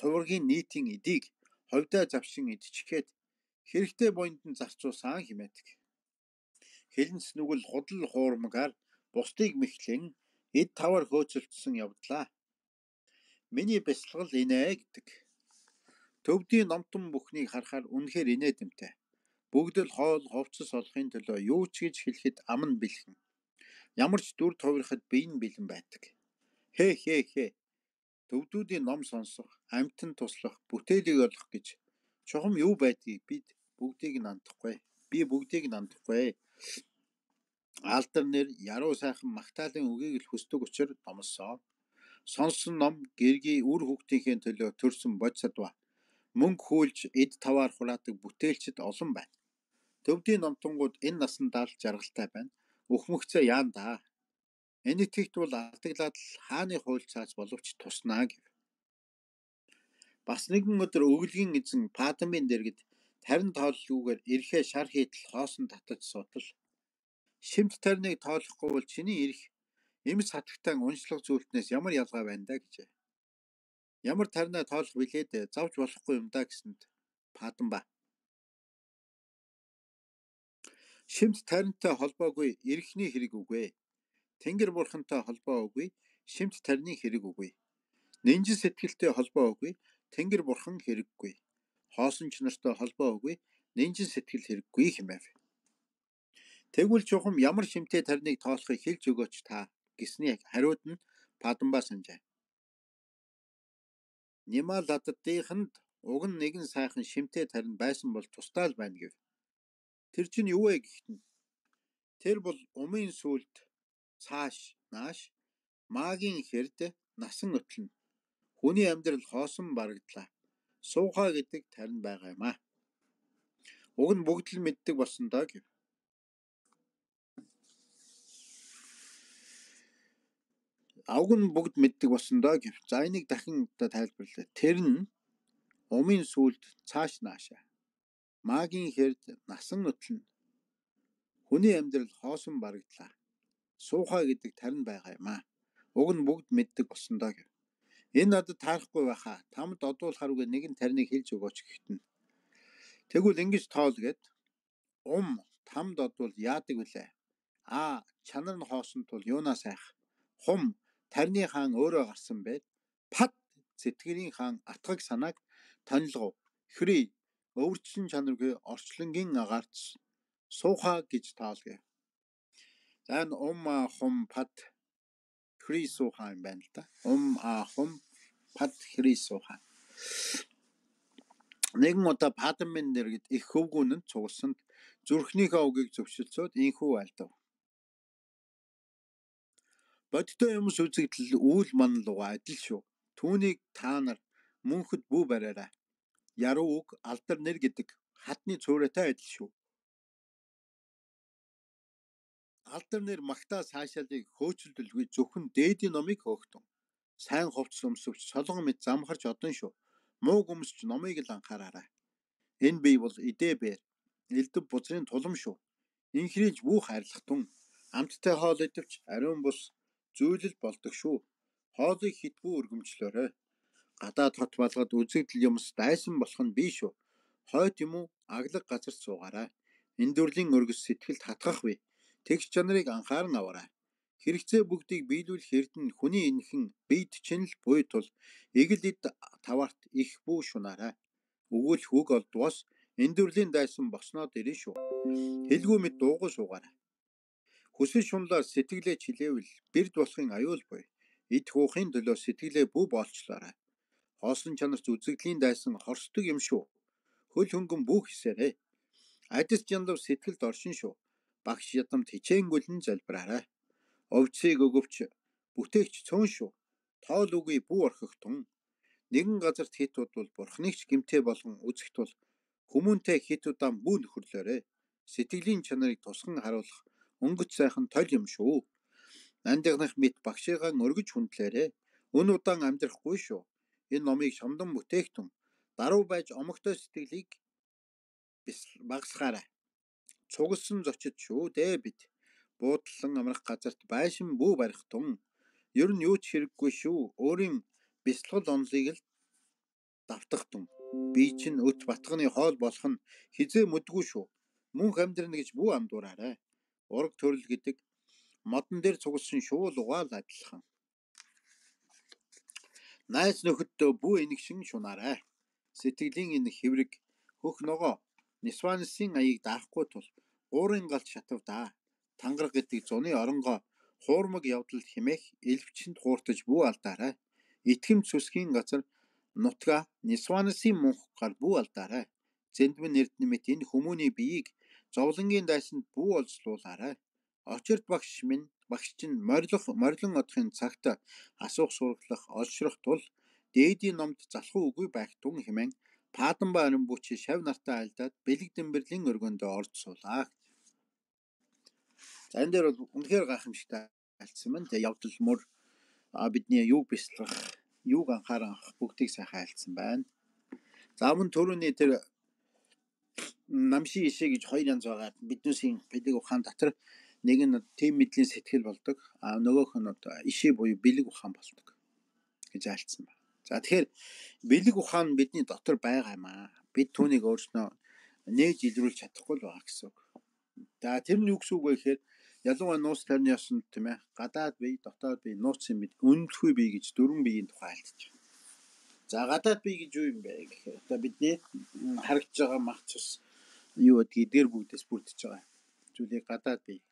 хуваргийн нийтийн эдийг ховдоо завшин идчихээд хэрэгтэй бондон зарцуулсан хэмээдэг. Хилэнц нүгэл худал хуурмгаар бусдыг мэхлэн эд тавар хөөцөлдсөн явдлаа. Миний бясалгал инээ гэдэг. Төвдийн номтон бүхнийг харахаар үнэхээр инээдэмтэй. Бүгд л хоол ховцос олохын төлөө юу ч гэж хэлэхэд ам нь бэлхэн. Ямар ч дүр тувирахад бие нь бэлэн байдаг. Хээ. Төвдүүдийн ном сонсох, амьтан туслах, бүтээлийг олох гэж чухам юу байдгийг бид бүгдийг нь андахгүй. Би бүгдийг нь андахгүй. Алдар нэр яруу сайхан магтаалын үгийг л хүсдэг учраас номлосон. Сонссон ном гэргий үр хүүхдийнхээ төлөө төрсөн бодисадва. Мөнгө хүлж эд таваар хураадаг бүтээлчд олон байна. Төвдийн номтонгууд энэ насандаа л жаргалтай байна. Өхмөгцөө яандаа. Энэ итгэгт бол алдаглаад л хааны хуульцаач боловч туснаа гэв. Бас нэгэн өдөр өглөгийн эзэн Паданбын дэргэд тарин тооллгүйгээр ирэхээ шар хийтэл хоосон татаж суудал. Шимт тариныг тоолохгүй бол чиний ирэх эмс хатагтаан уншлах зүйлтнээс ямар ялгаа байна даа гэжээ. Ямар таринаа тоолох билээд завж болохгүй юм да гэсэнд Паданба. Шимт таринтай холбоогүй эрхний хэрэг үгүй. Тэнгэр бурхантай холбоо үгүй, шимт тарины хэрэг үгүй. Нинжин сэтгэлтэй холбоо үгүй, тэнгэр бурхан хэрэггүй. Хоосон ч нартай холбоо үгүй, нинжин сэтгэл хэрэггүй хэмэв. Тэгвэл чухам ямар шимтэй тариныг тоолохыг хэлж өгөөч та гэсний хариуд нь Паданба санджээ. Нималаддыханд уг нь нэгэн сайхан шимтэй тарин байсан бол тустай л байна гэв. Тэр чинь юу вэ гэхтэн? Тэр бол умын сүлд цааш нааш магийн хэрд насан өтлөн хүний амьдрал хоосон барагдлаа. Суухаа гэдэг тарин байгаа юм аа. Уг нь бүгд л мэддэг болсон доо гэв. Уг нь бүгд мэддэг болсон доо гэв. За энийг дахин тайлбарлая. Тэр нь умын сүлд цааш наашаа магийн хэрд насан өтлөн хүний амьдрал хоосон барагдлаа. Суухаа гэдэг тарин байгаа юм аа. Уг нь бүгд мэддэг болсон доо гэв. Энэ надад таарахгүй байхаа. Тамд одуулахааргүй нэгэн тариныг хэлж өгөөч гэхтэн. Тэгвэл ингэж тоол гэд тамд одвол яадаг вүлээ? Чанар нь хоосон тул юунаа сайх? Хум тарины хаан өөрөө гарсан байд. Пад сэтгэрийн хаан атгаг санааг танилгов. Хри өвөрчсөн чанаргүй орчлонгийн агаарч суухаа гэж тоолгоё. За энэ хум пад хри суухаа юм байна л да. Хум пад хри суухаа. Нэгэн удаа Паданбын нэргэд их хөвгүүн нь цугласанд зүрхнийхээ үгийг зөвшөлдсөд инхүү айлдав. Бодтой юмс үзэгдэл үйл манлууга адил шүү. Түүнийг та нар мөнхөд бүү бариараа. Яруу үг алдар нэр гэдэг хатны цуурайтай адил шүү. Алдар нэр магтаа цаашаалыг хөөцөлдөлгүй зөвхөн дээдийн номыг хөөгтөн. Сайн хувцс өмсөвч солон мэд замхарч одон шүү. Муу өмсч номыг л анхаараарай. Энэ бий бол идэ-бэр элдв бузрын тулам шүү. Инхрийж бүх хайрлах тун амттай хоол идэвч ариун бус зүйлэл болдог шүү. Хоолыг хитбүү өргөмжлөөрэй. Гадаад хот балгад үзэгдэл юмс дайсан болох нь бий шүү. Хойд юм уу аглаг газарт суугаарай. Эндүрлийн өргөс сэтгэлд хатгах вэ. Тэгш чанарыг анхааран аваарай. Хэрэгцээ бүгдийг биелүүлэх эрдэнэ хүний энхэн бийд чинь л буй тул эгэл эд таваарт их бүү шунаарай. Өгүүлэх үг олдвоос эндүрлийн дайсан босноод ирнэ шүү. Хэлгүй мэд дуугүй суугаарай. Хүсэл шунлаар сэтгэлээ чилээвэл бэрд болохын аюул буй. Эд хуухын төлөө сэтгэлээ бүү боолчлоорой. Хоосон чанарч үзэгдлийн дайсан хорсдог юм шүү. Хөл хөнгөн бүх хэсээрээ. Адис жандав сэтгэлд оршин шүү. Багш ядамт хичээнгүлэн залбираарай. Овцыг өгөвч бүтээгч цөөн шүү. Тоол үгүй бүү орхих тун. Нэгэн газарт хит удвал бурхныг ч гимтэй болгон үзэх тул хүмүүнтэй хит удаан бүү нөхөрлөөрэй. Сэтгэлийн чанарыг тусган харуулах өнгөц сайхан толь юм шүү. Андигнах мэт багшигаа өргөж хүндлээрэй. Өн удаан амьдрахгүй шүү. Энэ номыг шамдан бүтээгтэн даруй байж омогтой сэтгэлийг багасгаарай. Цугласан зочид шүү дээ бид. Буудлан амрах газарт байшин бүү барих тун. Ер нь юу ч хэрэггүй шүү. Өөрийн бясалгал онолыг л давтах тун. Би чинь өт батганы хоол болох нь хизээ мэдгүй шүү. Мөнх амьдрна гэж бүү андуураарай. Ураг төрөл гэдэг модон дээр цугласан шуул угаал адилхан. Найз нөхөддөө бүү энэгшин шунаарай. Сэтгэлийн энэ хэврэг хөх ногоо Нисванысын аяыг даахгүй тул уурын галт шатавдаа. Тангараг гэдэг зуны оронгоо хуурмаг явдал химэх элвчэнд хууртаж бүү алдаарай. Итгэм цүсгийн газар нутга Нисванысын мөнхгар бүү алдаарай. Зэндмэн эрдэнэ мэт энэ хүмүүний биеийг зовлонгийн дайсанд бүү олзлуулаарай. Очирт багш чинь морилон одохын цагт асуух сураглах олшрох тул дээдийн номд залхуу үгүй байх тун хэмээн Паданба арин бүч шав нартай айлдаад бэлэг дэмбэрлийн өргөндөө орж суулаа. За энэ дээр бол үнэхээр гайхамшигтай айлцсан байна. Тэгээ явдал мөр бидний юг бясалгах, юг анхааран авах бүгдийг сайхан айлцсан байна. За мөн түрүүний тэр намши ишээ гэж хоёр янз байгаа. Биднээсийн бэлэг ухаан дотор нэг нь тийм мэдлийн сэтгэл болдог. Нөгөөх нь ишээ буюу бэлэг ухаан болдог гэж айлцсан байна. За тэгэхээр бэлэг ухаан бидний дотор байгаа юм аа. Бид түүнийг өөрснөө нээж илрүүлж чадахгүй л байгаа гэсэн үг. За тэр нь юу гэсэн үг вэ гэхээр ялангуяа нууц тарны ёсонд тийм ээ гадаад бие дотоод бие нууцын бие үнэлэхгүй бие гэж дөрвөн биеийн тухай альтж байна. За гадаад бие гэж юу юм бэ гэхээр одоо бидний харагдж байгаа мах цус юу гэдгийг эдгээр бүгдээс бүрдэж байгаа зүйлийг гадаад бие.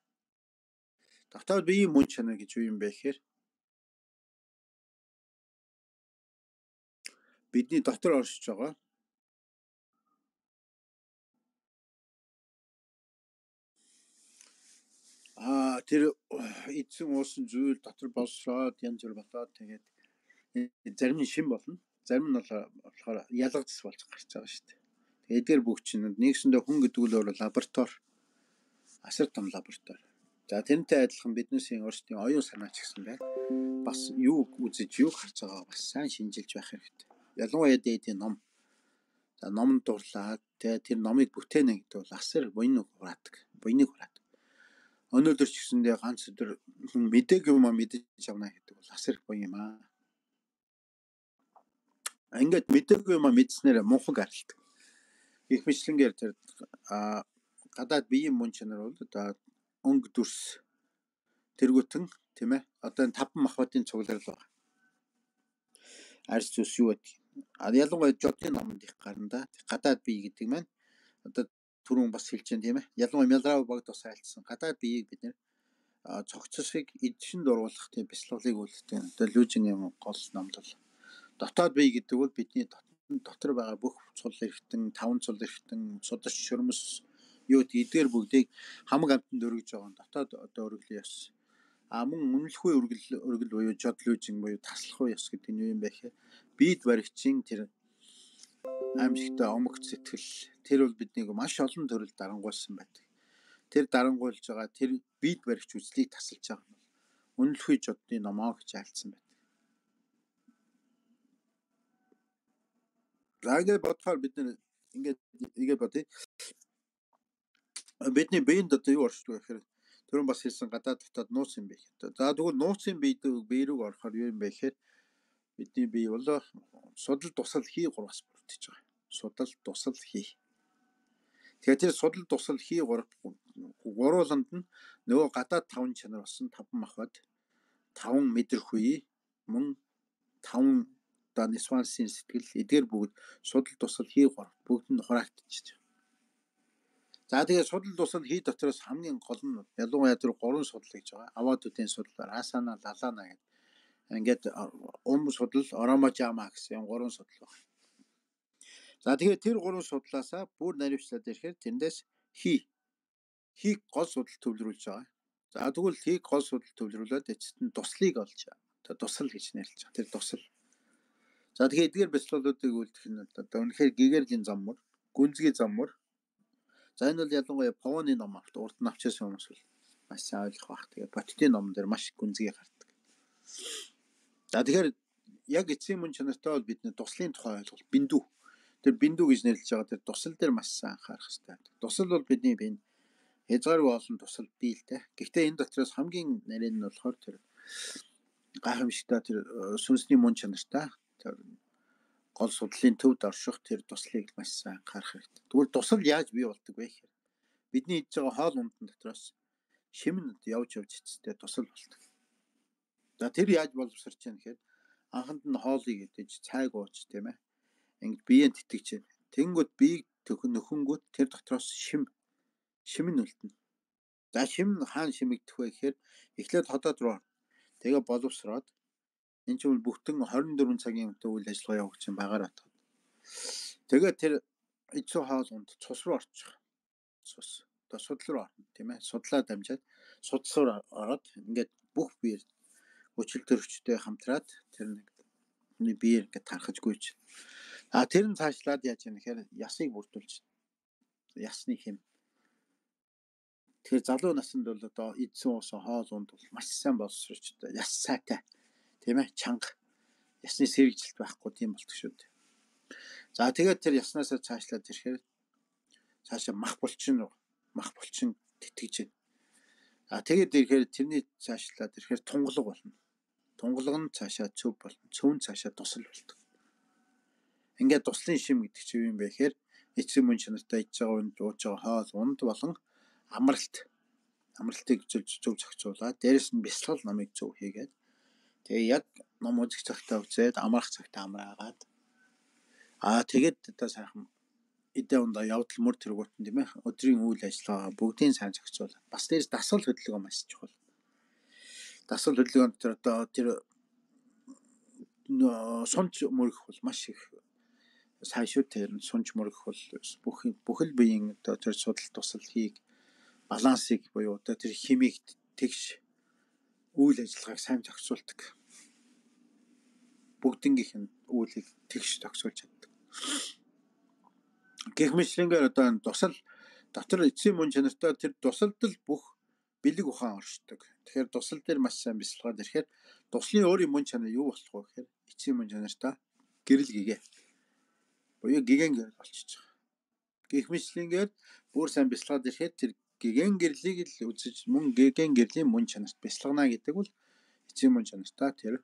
Дотоод биеийн мөн чанар гэж юу юм бэ гэхээр бидний дотор оршиж байгаа тэр эдсэн уусан зүйл дотор болсроод янз бүр болоод тэгээд зарим нь шин болно. Зарим нь болохоор ялгадс болж гарч байгаа шүү дээ. Тэгээд эдгээр бүх чинь нэгсэндээ хүн гэдэг нь өөр лаборатори асар том лаборатори. За тэрнтэй адилхан биднээс өөрсдийн оюун санаа ч гэсэн байна. Бас юу үзэж юу харж байгаа бас сайн шинжилж байх хэрэгтэй. Ялангуяа дээдийн ном. За номд дурлаад тэр номыг бүтээнэ гэдэг бол асар буйныг хураадаг. Өнөөдөр ч гэсэндээ ганц өдөр мэдээг юм мэдэж авна гэдэг бол асар их буян юм аа. Ингээд мэдээг юм мэдснээр мунхаг арилдаг. Их мэтлэнгээр тэр гадаад биеийн мөн чанар бол одоо өнгө дүрс тэргүүтэн тийм ээ одоо энэ 5 махбодын цугларал байна. Арьс зүс юу гэдэг. Ялангуяа жодын номонд их гарна да. Гадаад бие гэдэг маань одоо түрүүн бас хэлж байна тийм ээ. Ялангуяа Мялрав богд бас айлтсан. Гадаад биеийг бид нэр цогцсыг эдшин дуруулах тийм бяцлаглыг үлддэг. Одоо Люжиний гол номд бол дотоод бие гэдэг бол бидний дотор байгаа бүх цул эрхтэн, таван цул эрхтэн, судас шөрмөс юу гэдэг эдгээр бүгдийг хамаг амтанд өргөж байгаа дотоод одоо өргөлийн ёс. Мөн үнэлэхгүй өргөл буюу жодлүүжин буюу таслах ёс гэдэг нь юу юм бэ гэхээр бид баригчийн тэр аимшигтай омогт сэтгэл тэр бол биднийг маш олон төрөл дарангуйлсан байдаг. Тэр дарангуйлж байгаа тэр бид баригч үзлийг тасалж байгаа нь үнэлэхгүй жодны номоо гэж айлцсан байдаг. За ингээд бодохоор бид нэр ингээд бодъё. Бидний биеинд одоо юу оршдог вэ гэхээр түрүүн бас хэлсэн гадаад дотоод нууц юм бэ. За тэгвэл нууцын бие рүү орохоор юу юм бэ гэхээр бидний бие бол судал тусал хий 3-аас бүрдэж байгаа. Судал тусал хий. Тэгэхээр тэр судал тусал хий 3 гурууланд нь нөгөө гадаад 5 чанар болсон 5 махбод 5 мэдрэхүй мөн 5 одоо нисвансын сэтгэл эдгээр бүгд судал тусал хий 3 бүгд нь хураагдчихж байгаа. За тэгээд судал тусал хий дотроос хамгийн гол нь ялангуяа тэр 3 судал гэж байгаа. Аваадуудын судал, асана, лалана гэдэг. Ингээд судал, ороможама гэсэн 3 судал байна. За тэгээд тэр 3 судлаасаа бүр наривчлаад ирэхээр тэндээс хий гол судал төвлөрүүлж байгаа. За тэгвэл хийг гол судал төвлөрүүлээд эцэст нь туслыг олж одоо тусал гэж нэрлэж байгаа. Тэр тусал. За тэгэхээр эдгээр бяцлалуудыг үлдэх нь одоо үнэхээр гэгэрлийн заммар, гүнзгий заммар. За энэ бол ялангуяа Повоны ном урд нь авчирсан хүмүүс бол маш сайн ойлгох бах. Тэгээ Боттын ном дээр маш гүнзгий гардаг. За тэгэхээр яг эцсийн мөн чанартай бол бидний туслын тухай ойлголт биндүү. Тэр биндүү гэж нэрлэж байгаа тэр тусал дээр маш сайн анхаарах хэрэгтэй. Тусал бол бидний бие хязгааргүй олон тусал бий л дээ. Гэхдээ энэ дотроос хамгийн нарийн нь болохоор тэр гайхамшигтай тэр сүнсний мөн чанартай тэр гол судлалын төвд орших тэр туслыг маш сайн анхаарах хэрэгтэй. Тэгвэл тусал яаж бий болдог вэ гэхээр бидний идж байгаа хоол ундын дотроос шимнэд явж эцэстээ тусал болдог. За тэр яаж боловсрч яах гэхээр анханд нь хоолыг идэж цайг ууж тийм ээ. Ингээд биеийн тэтгэж байна. Тэнгүүд биеийг нөхөнгүүт тэр дотроос шим нь үлдэнэ. За шим хаана шимэгдэх вэ гэхээр эхлээд хотод руу тэгээ боловсроод энэ чинь бүтэн 24 цагийн үйл ажиллагаа явуулж байгаа батгад. Тэгээд тэр эцүү хоол унд цус руу орчих. Цус. Одоо судал руу орно тийм ээ. Судлаа дамжаад судасаар ороод ингээд бүх биеэр хүчил төрөвчтэй хамтраад тэр нэг биеэр ингээд тархаж гүйж. Тэр нь цаашлаад яаж яах гэхээр ясыг бүрдүүлж. Ясны хэм. Тэгэхээр залуу наснд бол одоо эдсэн уусан хоол унд бол маш сайн боловсрч одоо яс сайтай тийм ээ чанга ясны сэргийлт байхгүй тийм болдог шүү дээ. За тэгээд тэр яснаасаа цаашлаад ирэхээр цаашаа мах булчин тэтгэж байна. Тэгээд ирэхээр тэрний цаашлаад ирэхээр тунгалаг болно. Тунгалаг нь цаашаа цөв болно. Цөв нь цаашаа тусал болдог. Ингээд туслын шим гэдэг чинь юу юм бэ гэхээр эцэг мөн чанартай иж байгаа үнд ууж байгаа хоол унд болон амралтыг зөв зохицуулаад дээрэс нь бясалгал номыг зөв хийгээд тэгээ яг ном үзэх цагтаа үзээд амрах цагтаа амраагаад тэгээд одоо сайхан эдээ ундаа явдал мөр тэргуутан тийм ээ өдрийн үйл ажиллагаа бүгдийг сайн зохицуулаад бас дээрс дасгал хөдөлгөөн маш чухал. Дасгал хөдөлгөөнд одоо тэр сунж мөрөх бол маш их сайн шүү. Тэр сунж мөрөх бол бүхэл биеийн одоо тэр судал туслахыг балансыг буюу одоо тэр химийг тэгш үйл ажиллагааг сайн зохицуулдаг. Бүгднгийнх нь үйлийг тэгш зохицуулж чаддаг. Гэх мэтлэнгээр одоо тусал дотор эцсийн мөн чанартай тэр тусалдал бүх бэлэг ухаан оршдог. Тэгэхээр тусал дээр маш сайн бясалгаад ирэхээр туслын өөрийн мөн чанар юу болох вэ гэхээр эцсийн мөн чанартай гэрэл гэгээ. Буюу гэгэн гэрэл болчихж байгаа. Гэх мэтлэнгээр бүр сайн бясалгаад ирэхээр тэр гэгэн гэрлийг л үзэж мөн гэгэн гэрлийн мөн чанарт бясалгана гэдэг бол эцсийн мөн чанартай тэр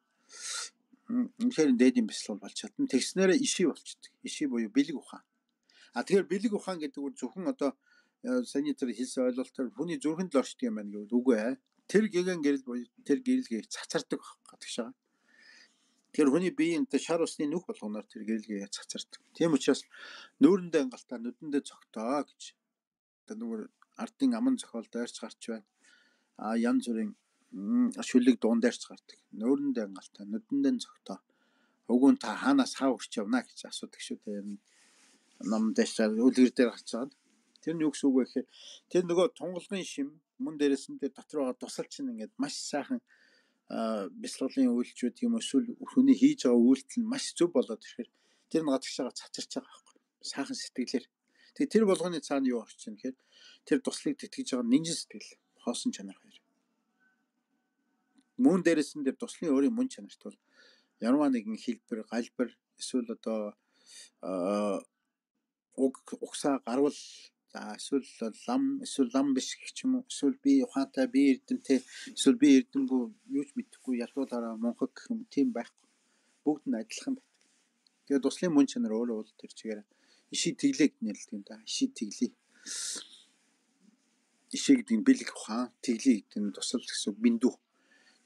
үнэхээр дээдийн бясалгал болж чадна. Тэгснээрээ иший болчихдог. Иший буюу бэлэг ухаан. Тэгэхээр бэлэг ухаан гэдэг нь зөвхөн одоо саний тэр хэлсэн ойлголтоор хүний зүрхэнд л оршдог юм байна гэвэл үгүй ээ. Тэр гэгэн гэрэл буюу тэр гэрэлгийг цацардаг гадагш байгаа. Тэр хүний биеийн шар усны нүх болгоноор тэр гэрэлгээ цацардаг. Тийм учраас нүүрэндээ ангалтаа нүдэндээ цогтоо гэж. Одоо нүгэр ардын аман зохиол дайрч гарч байна. Янз бүрийн шүлэг дуун дайрч гардаг. Нүүрэндээ ангалтаа нүдэндээ цогтоо. Өгөн та хаанаас хаа хүрч явна гэж асуудаг шүү дээ. Ном дэшээр үлгэр дээр гарч байгаа. Тэр нь юу гэсэн үг вэ гэхээр тэр нөгөө тунгалгын шим мөн дээрээс нь тэр дотор байгаа тусал чинь ингээд маш сайхан бясалгалын үйлчлүүд юм эсвэл хүний хийж байгаа үйлдэл нь маш зөв болоод ирэхээр тэр нь гадагш байгаа цацарч байгаа байхгүй. Сайхан сэтгэлээр. Тэгээ тэр болгоны цаана юу орчих юм гэхээр тэр туслыг тэтгэж байгаа нинжин сэтгэл, хоосон чанар хоёр. Мөн дээрээс нь тэр туслын өөрийн мөн чанарт бол ямар нэгэн хэлбэр, галбар эсвэл одоо угсаа гарвал эсвэл лам биш гэх юм уу эсвэл би ухаантай би эрдэмтэй эсвэл би эрдэмгүй юу ч мэдэхгүй ялгуулаараа монхог гэх юм тийм байхгүй. Бүгд нь адилхан байдаг. Тэгээд туслын мөн чанар өөрөө бол тэр чигээр иший тэглээг нэрлэдэг юм да. Иший тэглээ. Иший гэдэг нь бэлэг ухаан, тэглээ гэдэг нь тусал гэсэн биндүү.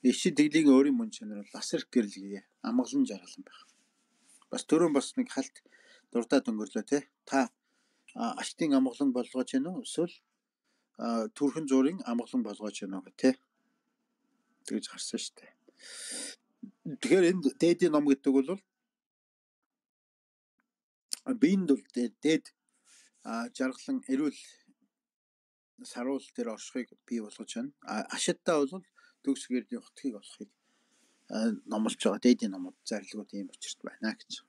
Иший тэглэгийн өөрийн мөн чанар бол асар гэрэлгээ, амгалан жаргалан байх. Бас түрүүн бас нэг халт дурдаад өнгөрлөө те. Та аштын амгалан болгож гэнэ үү? Эсвэл түрхэн зуурын амгалан болгож гэнэ үү те. Тэгж гарсан шүү дээ. Тэгэхээр энд дээдийн ном гэдэг бол биеинд бол дээд жаргалан эрүүл саруул дээр оршихыг бий болгож байна. Ашигтаа бол төгс гэрлийн утгыг олохыг номлож байгаа дээдийн номууд зарлигууд ийм учирт байна гэж.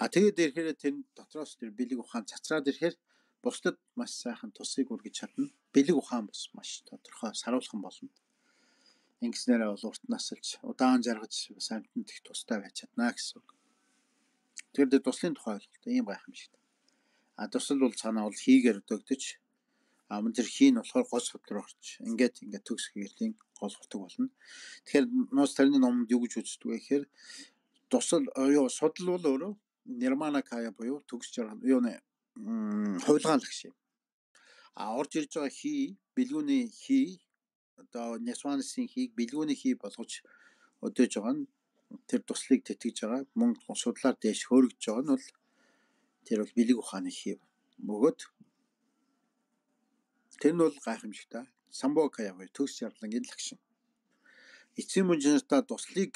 Тэгээд ирэхээр тэр дотроос тэр бэлэг ухаан цацраад ирэхээр бусдад маш сайхан тусыг үргэж чадна. Бэлэг ухаан бас маш тодорхой саруулхан болно. Ингэснээрээ бол урт насалж удаан жаргаж бас амьтанд их тустай байж чадна гэсэн үг. Тэгэхээр туслын тухай ойлголт ийм гайхамшигт. Тусал бол цаанаа бол хийгээр өдөөгдөж мөн тэр хий нь болохоор гол судлаар орч. Ингээд төгс гэрлийн гол хурдаг болно. Тэгэхээр нуус тарины номонд юу гэж үздэг вэ гэхээр тусал судал бол өөрөө нирмана кая буюу төгс жаргал юуны хувилгаанлагш юм. Орж ирж байгаа хий бэлгүүний хий одоо нясванысын хийг бэлгүүний хий болгож өдөөж байгаа нь тэр туслыг тэтгэж байгаа мөн судлаар дээш хөөргөж байгаа нь бол тэр бол бэлэг ухааны хий бөгөөд тэр нь бол гайхамшигтай самбокая буюу төгс жаргалангийн лагшин. Эцсийн мөн чанартай туслыг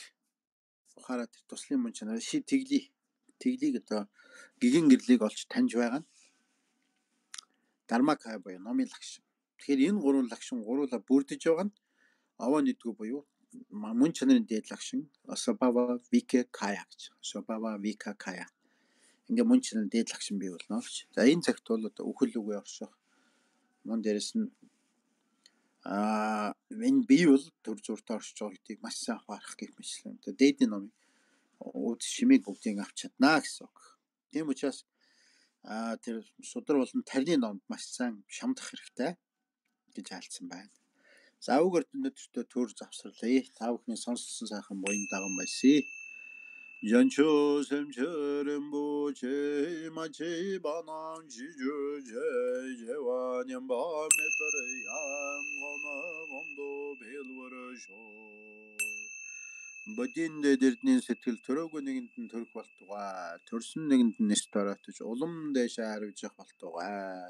ухаараад тэр туслын мөн чанар ши тэглийг одоо гэгэн гэрлийг олж таньж байгаа нь дармакая буюу номын лагшин. Тэгэхээр энэ гурван лагшин гуруула бүрдэж байгаа нь овоо нэгдгүү буюу мөн чанарын дээд лагшин Свабава Вика Кая гэж. Свабава Вика Кая. Ингээ мөн чанарын дээд лагшин бий болно гэж. За энэ цагт бол одоо үхэл үгээ орших. Мөн дээрэс нь энэ бие бол төр зуртаа оршиж байгаа гэдгийг маш сайн ухаарах гэх мэтлэн. Тэгээ дээдийн номыг үд шимийг бүгдийг авч чадна гэсэн үг. Тийм учраас тэр судар болон тарины номд маш сайн шамдах хэрэгтэй гэж альцсан байна. За үг өртөндөртөө төр завсарлаа. Та бүхний сонссон сайхан буян даган байсаа. 연초 샘처럼 제 마치 바람 지주제 제와년 밤에 버려 양거나 검도 벨버셔 бодин дэрдний сэтгэл төрөөгүй нэгэнд нь төрөх болтугай төрсөн нэгэнд нь нэс дороотож улам дэшээ харивж явах болтугай.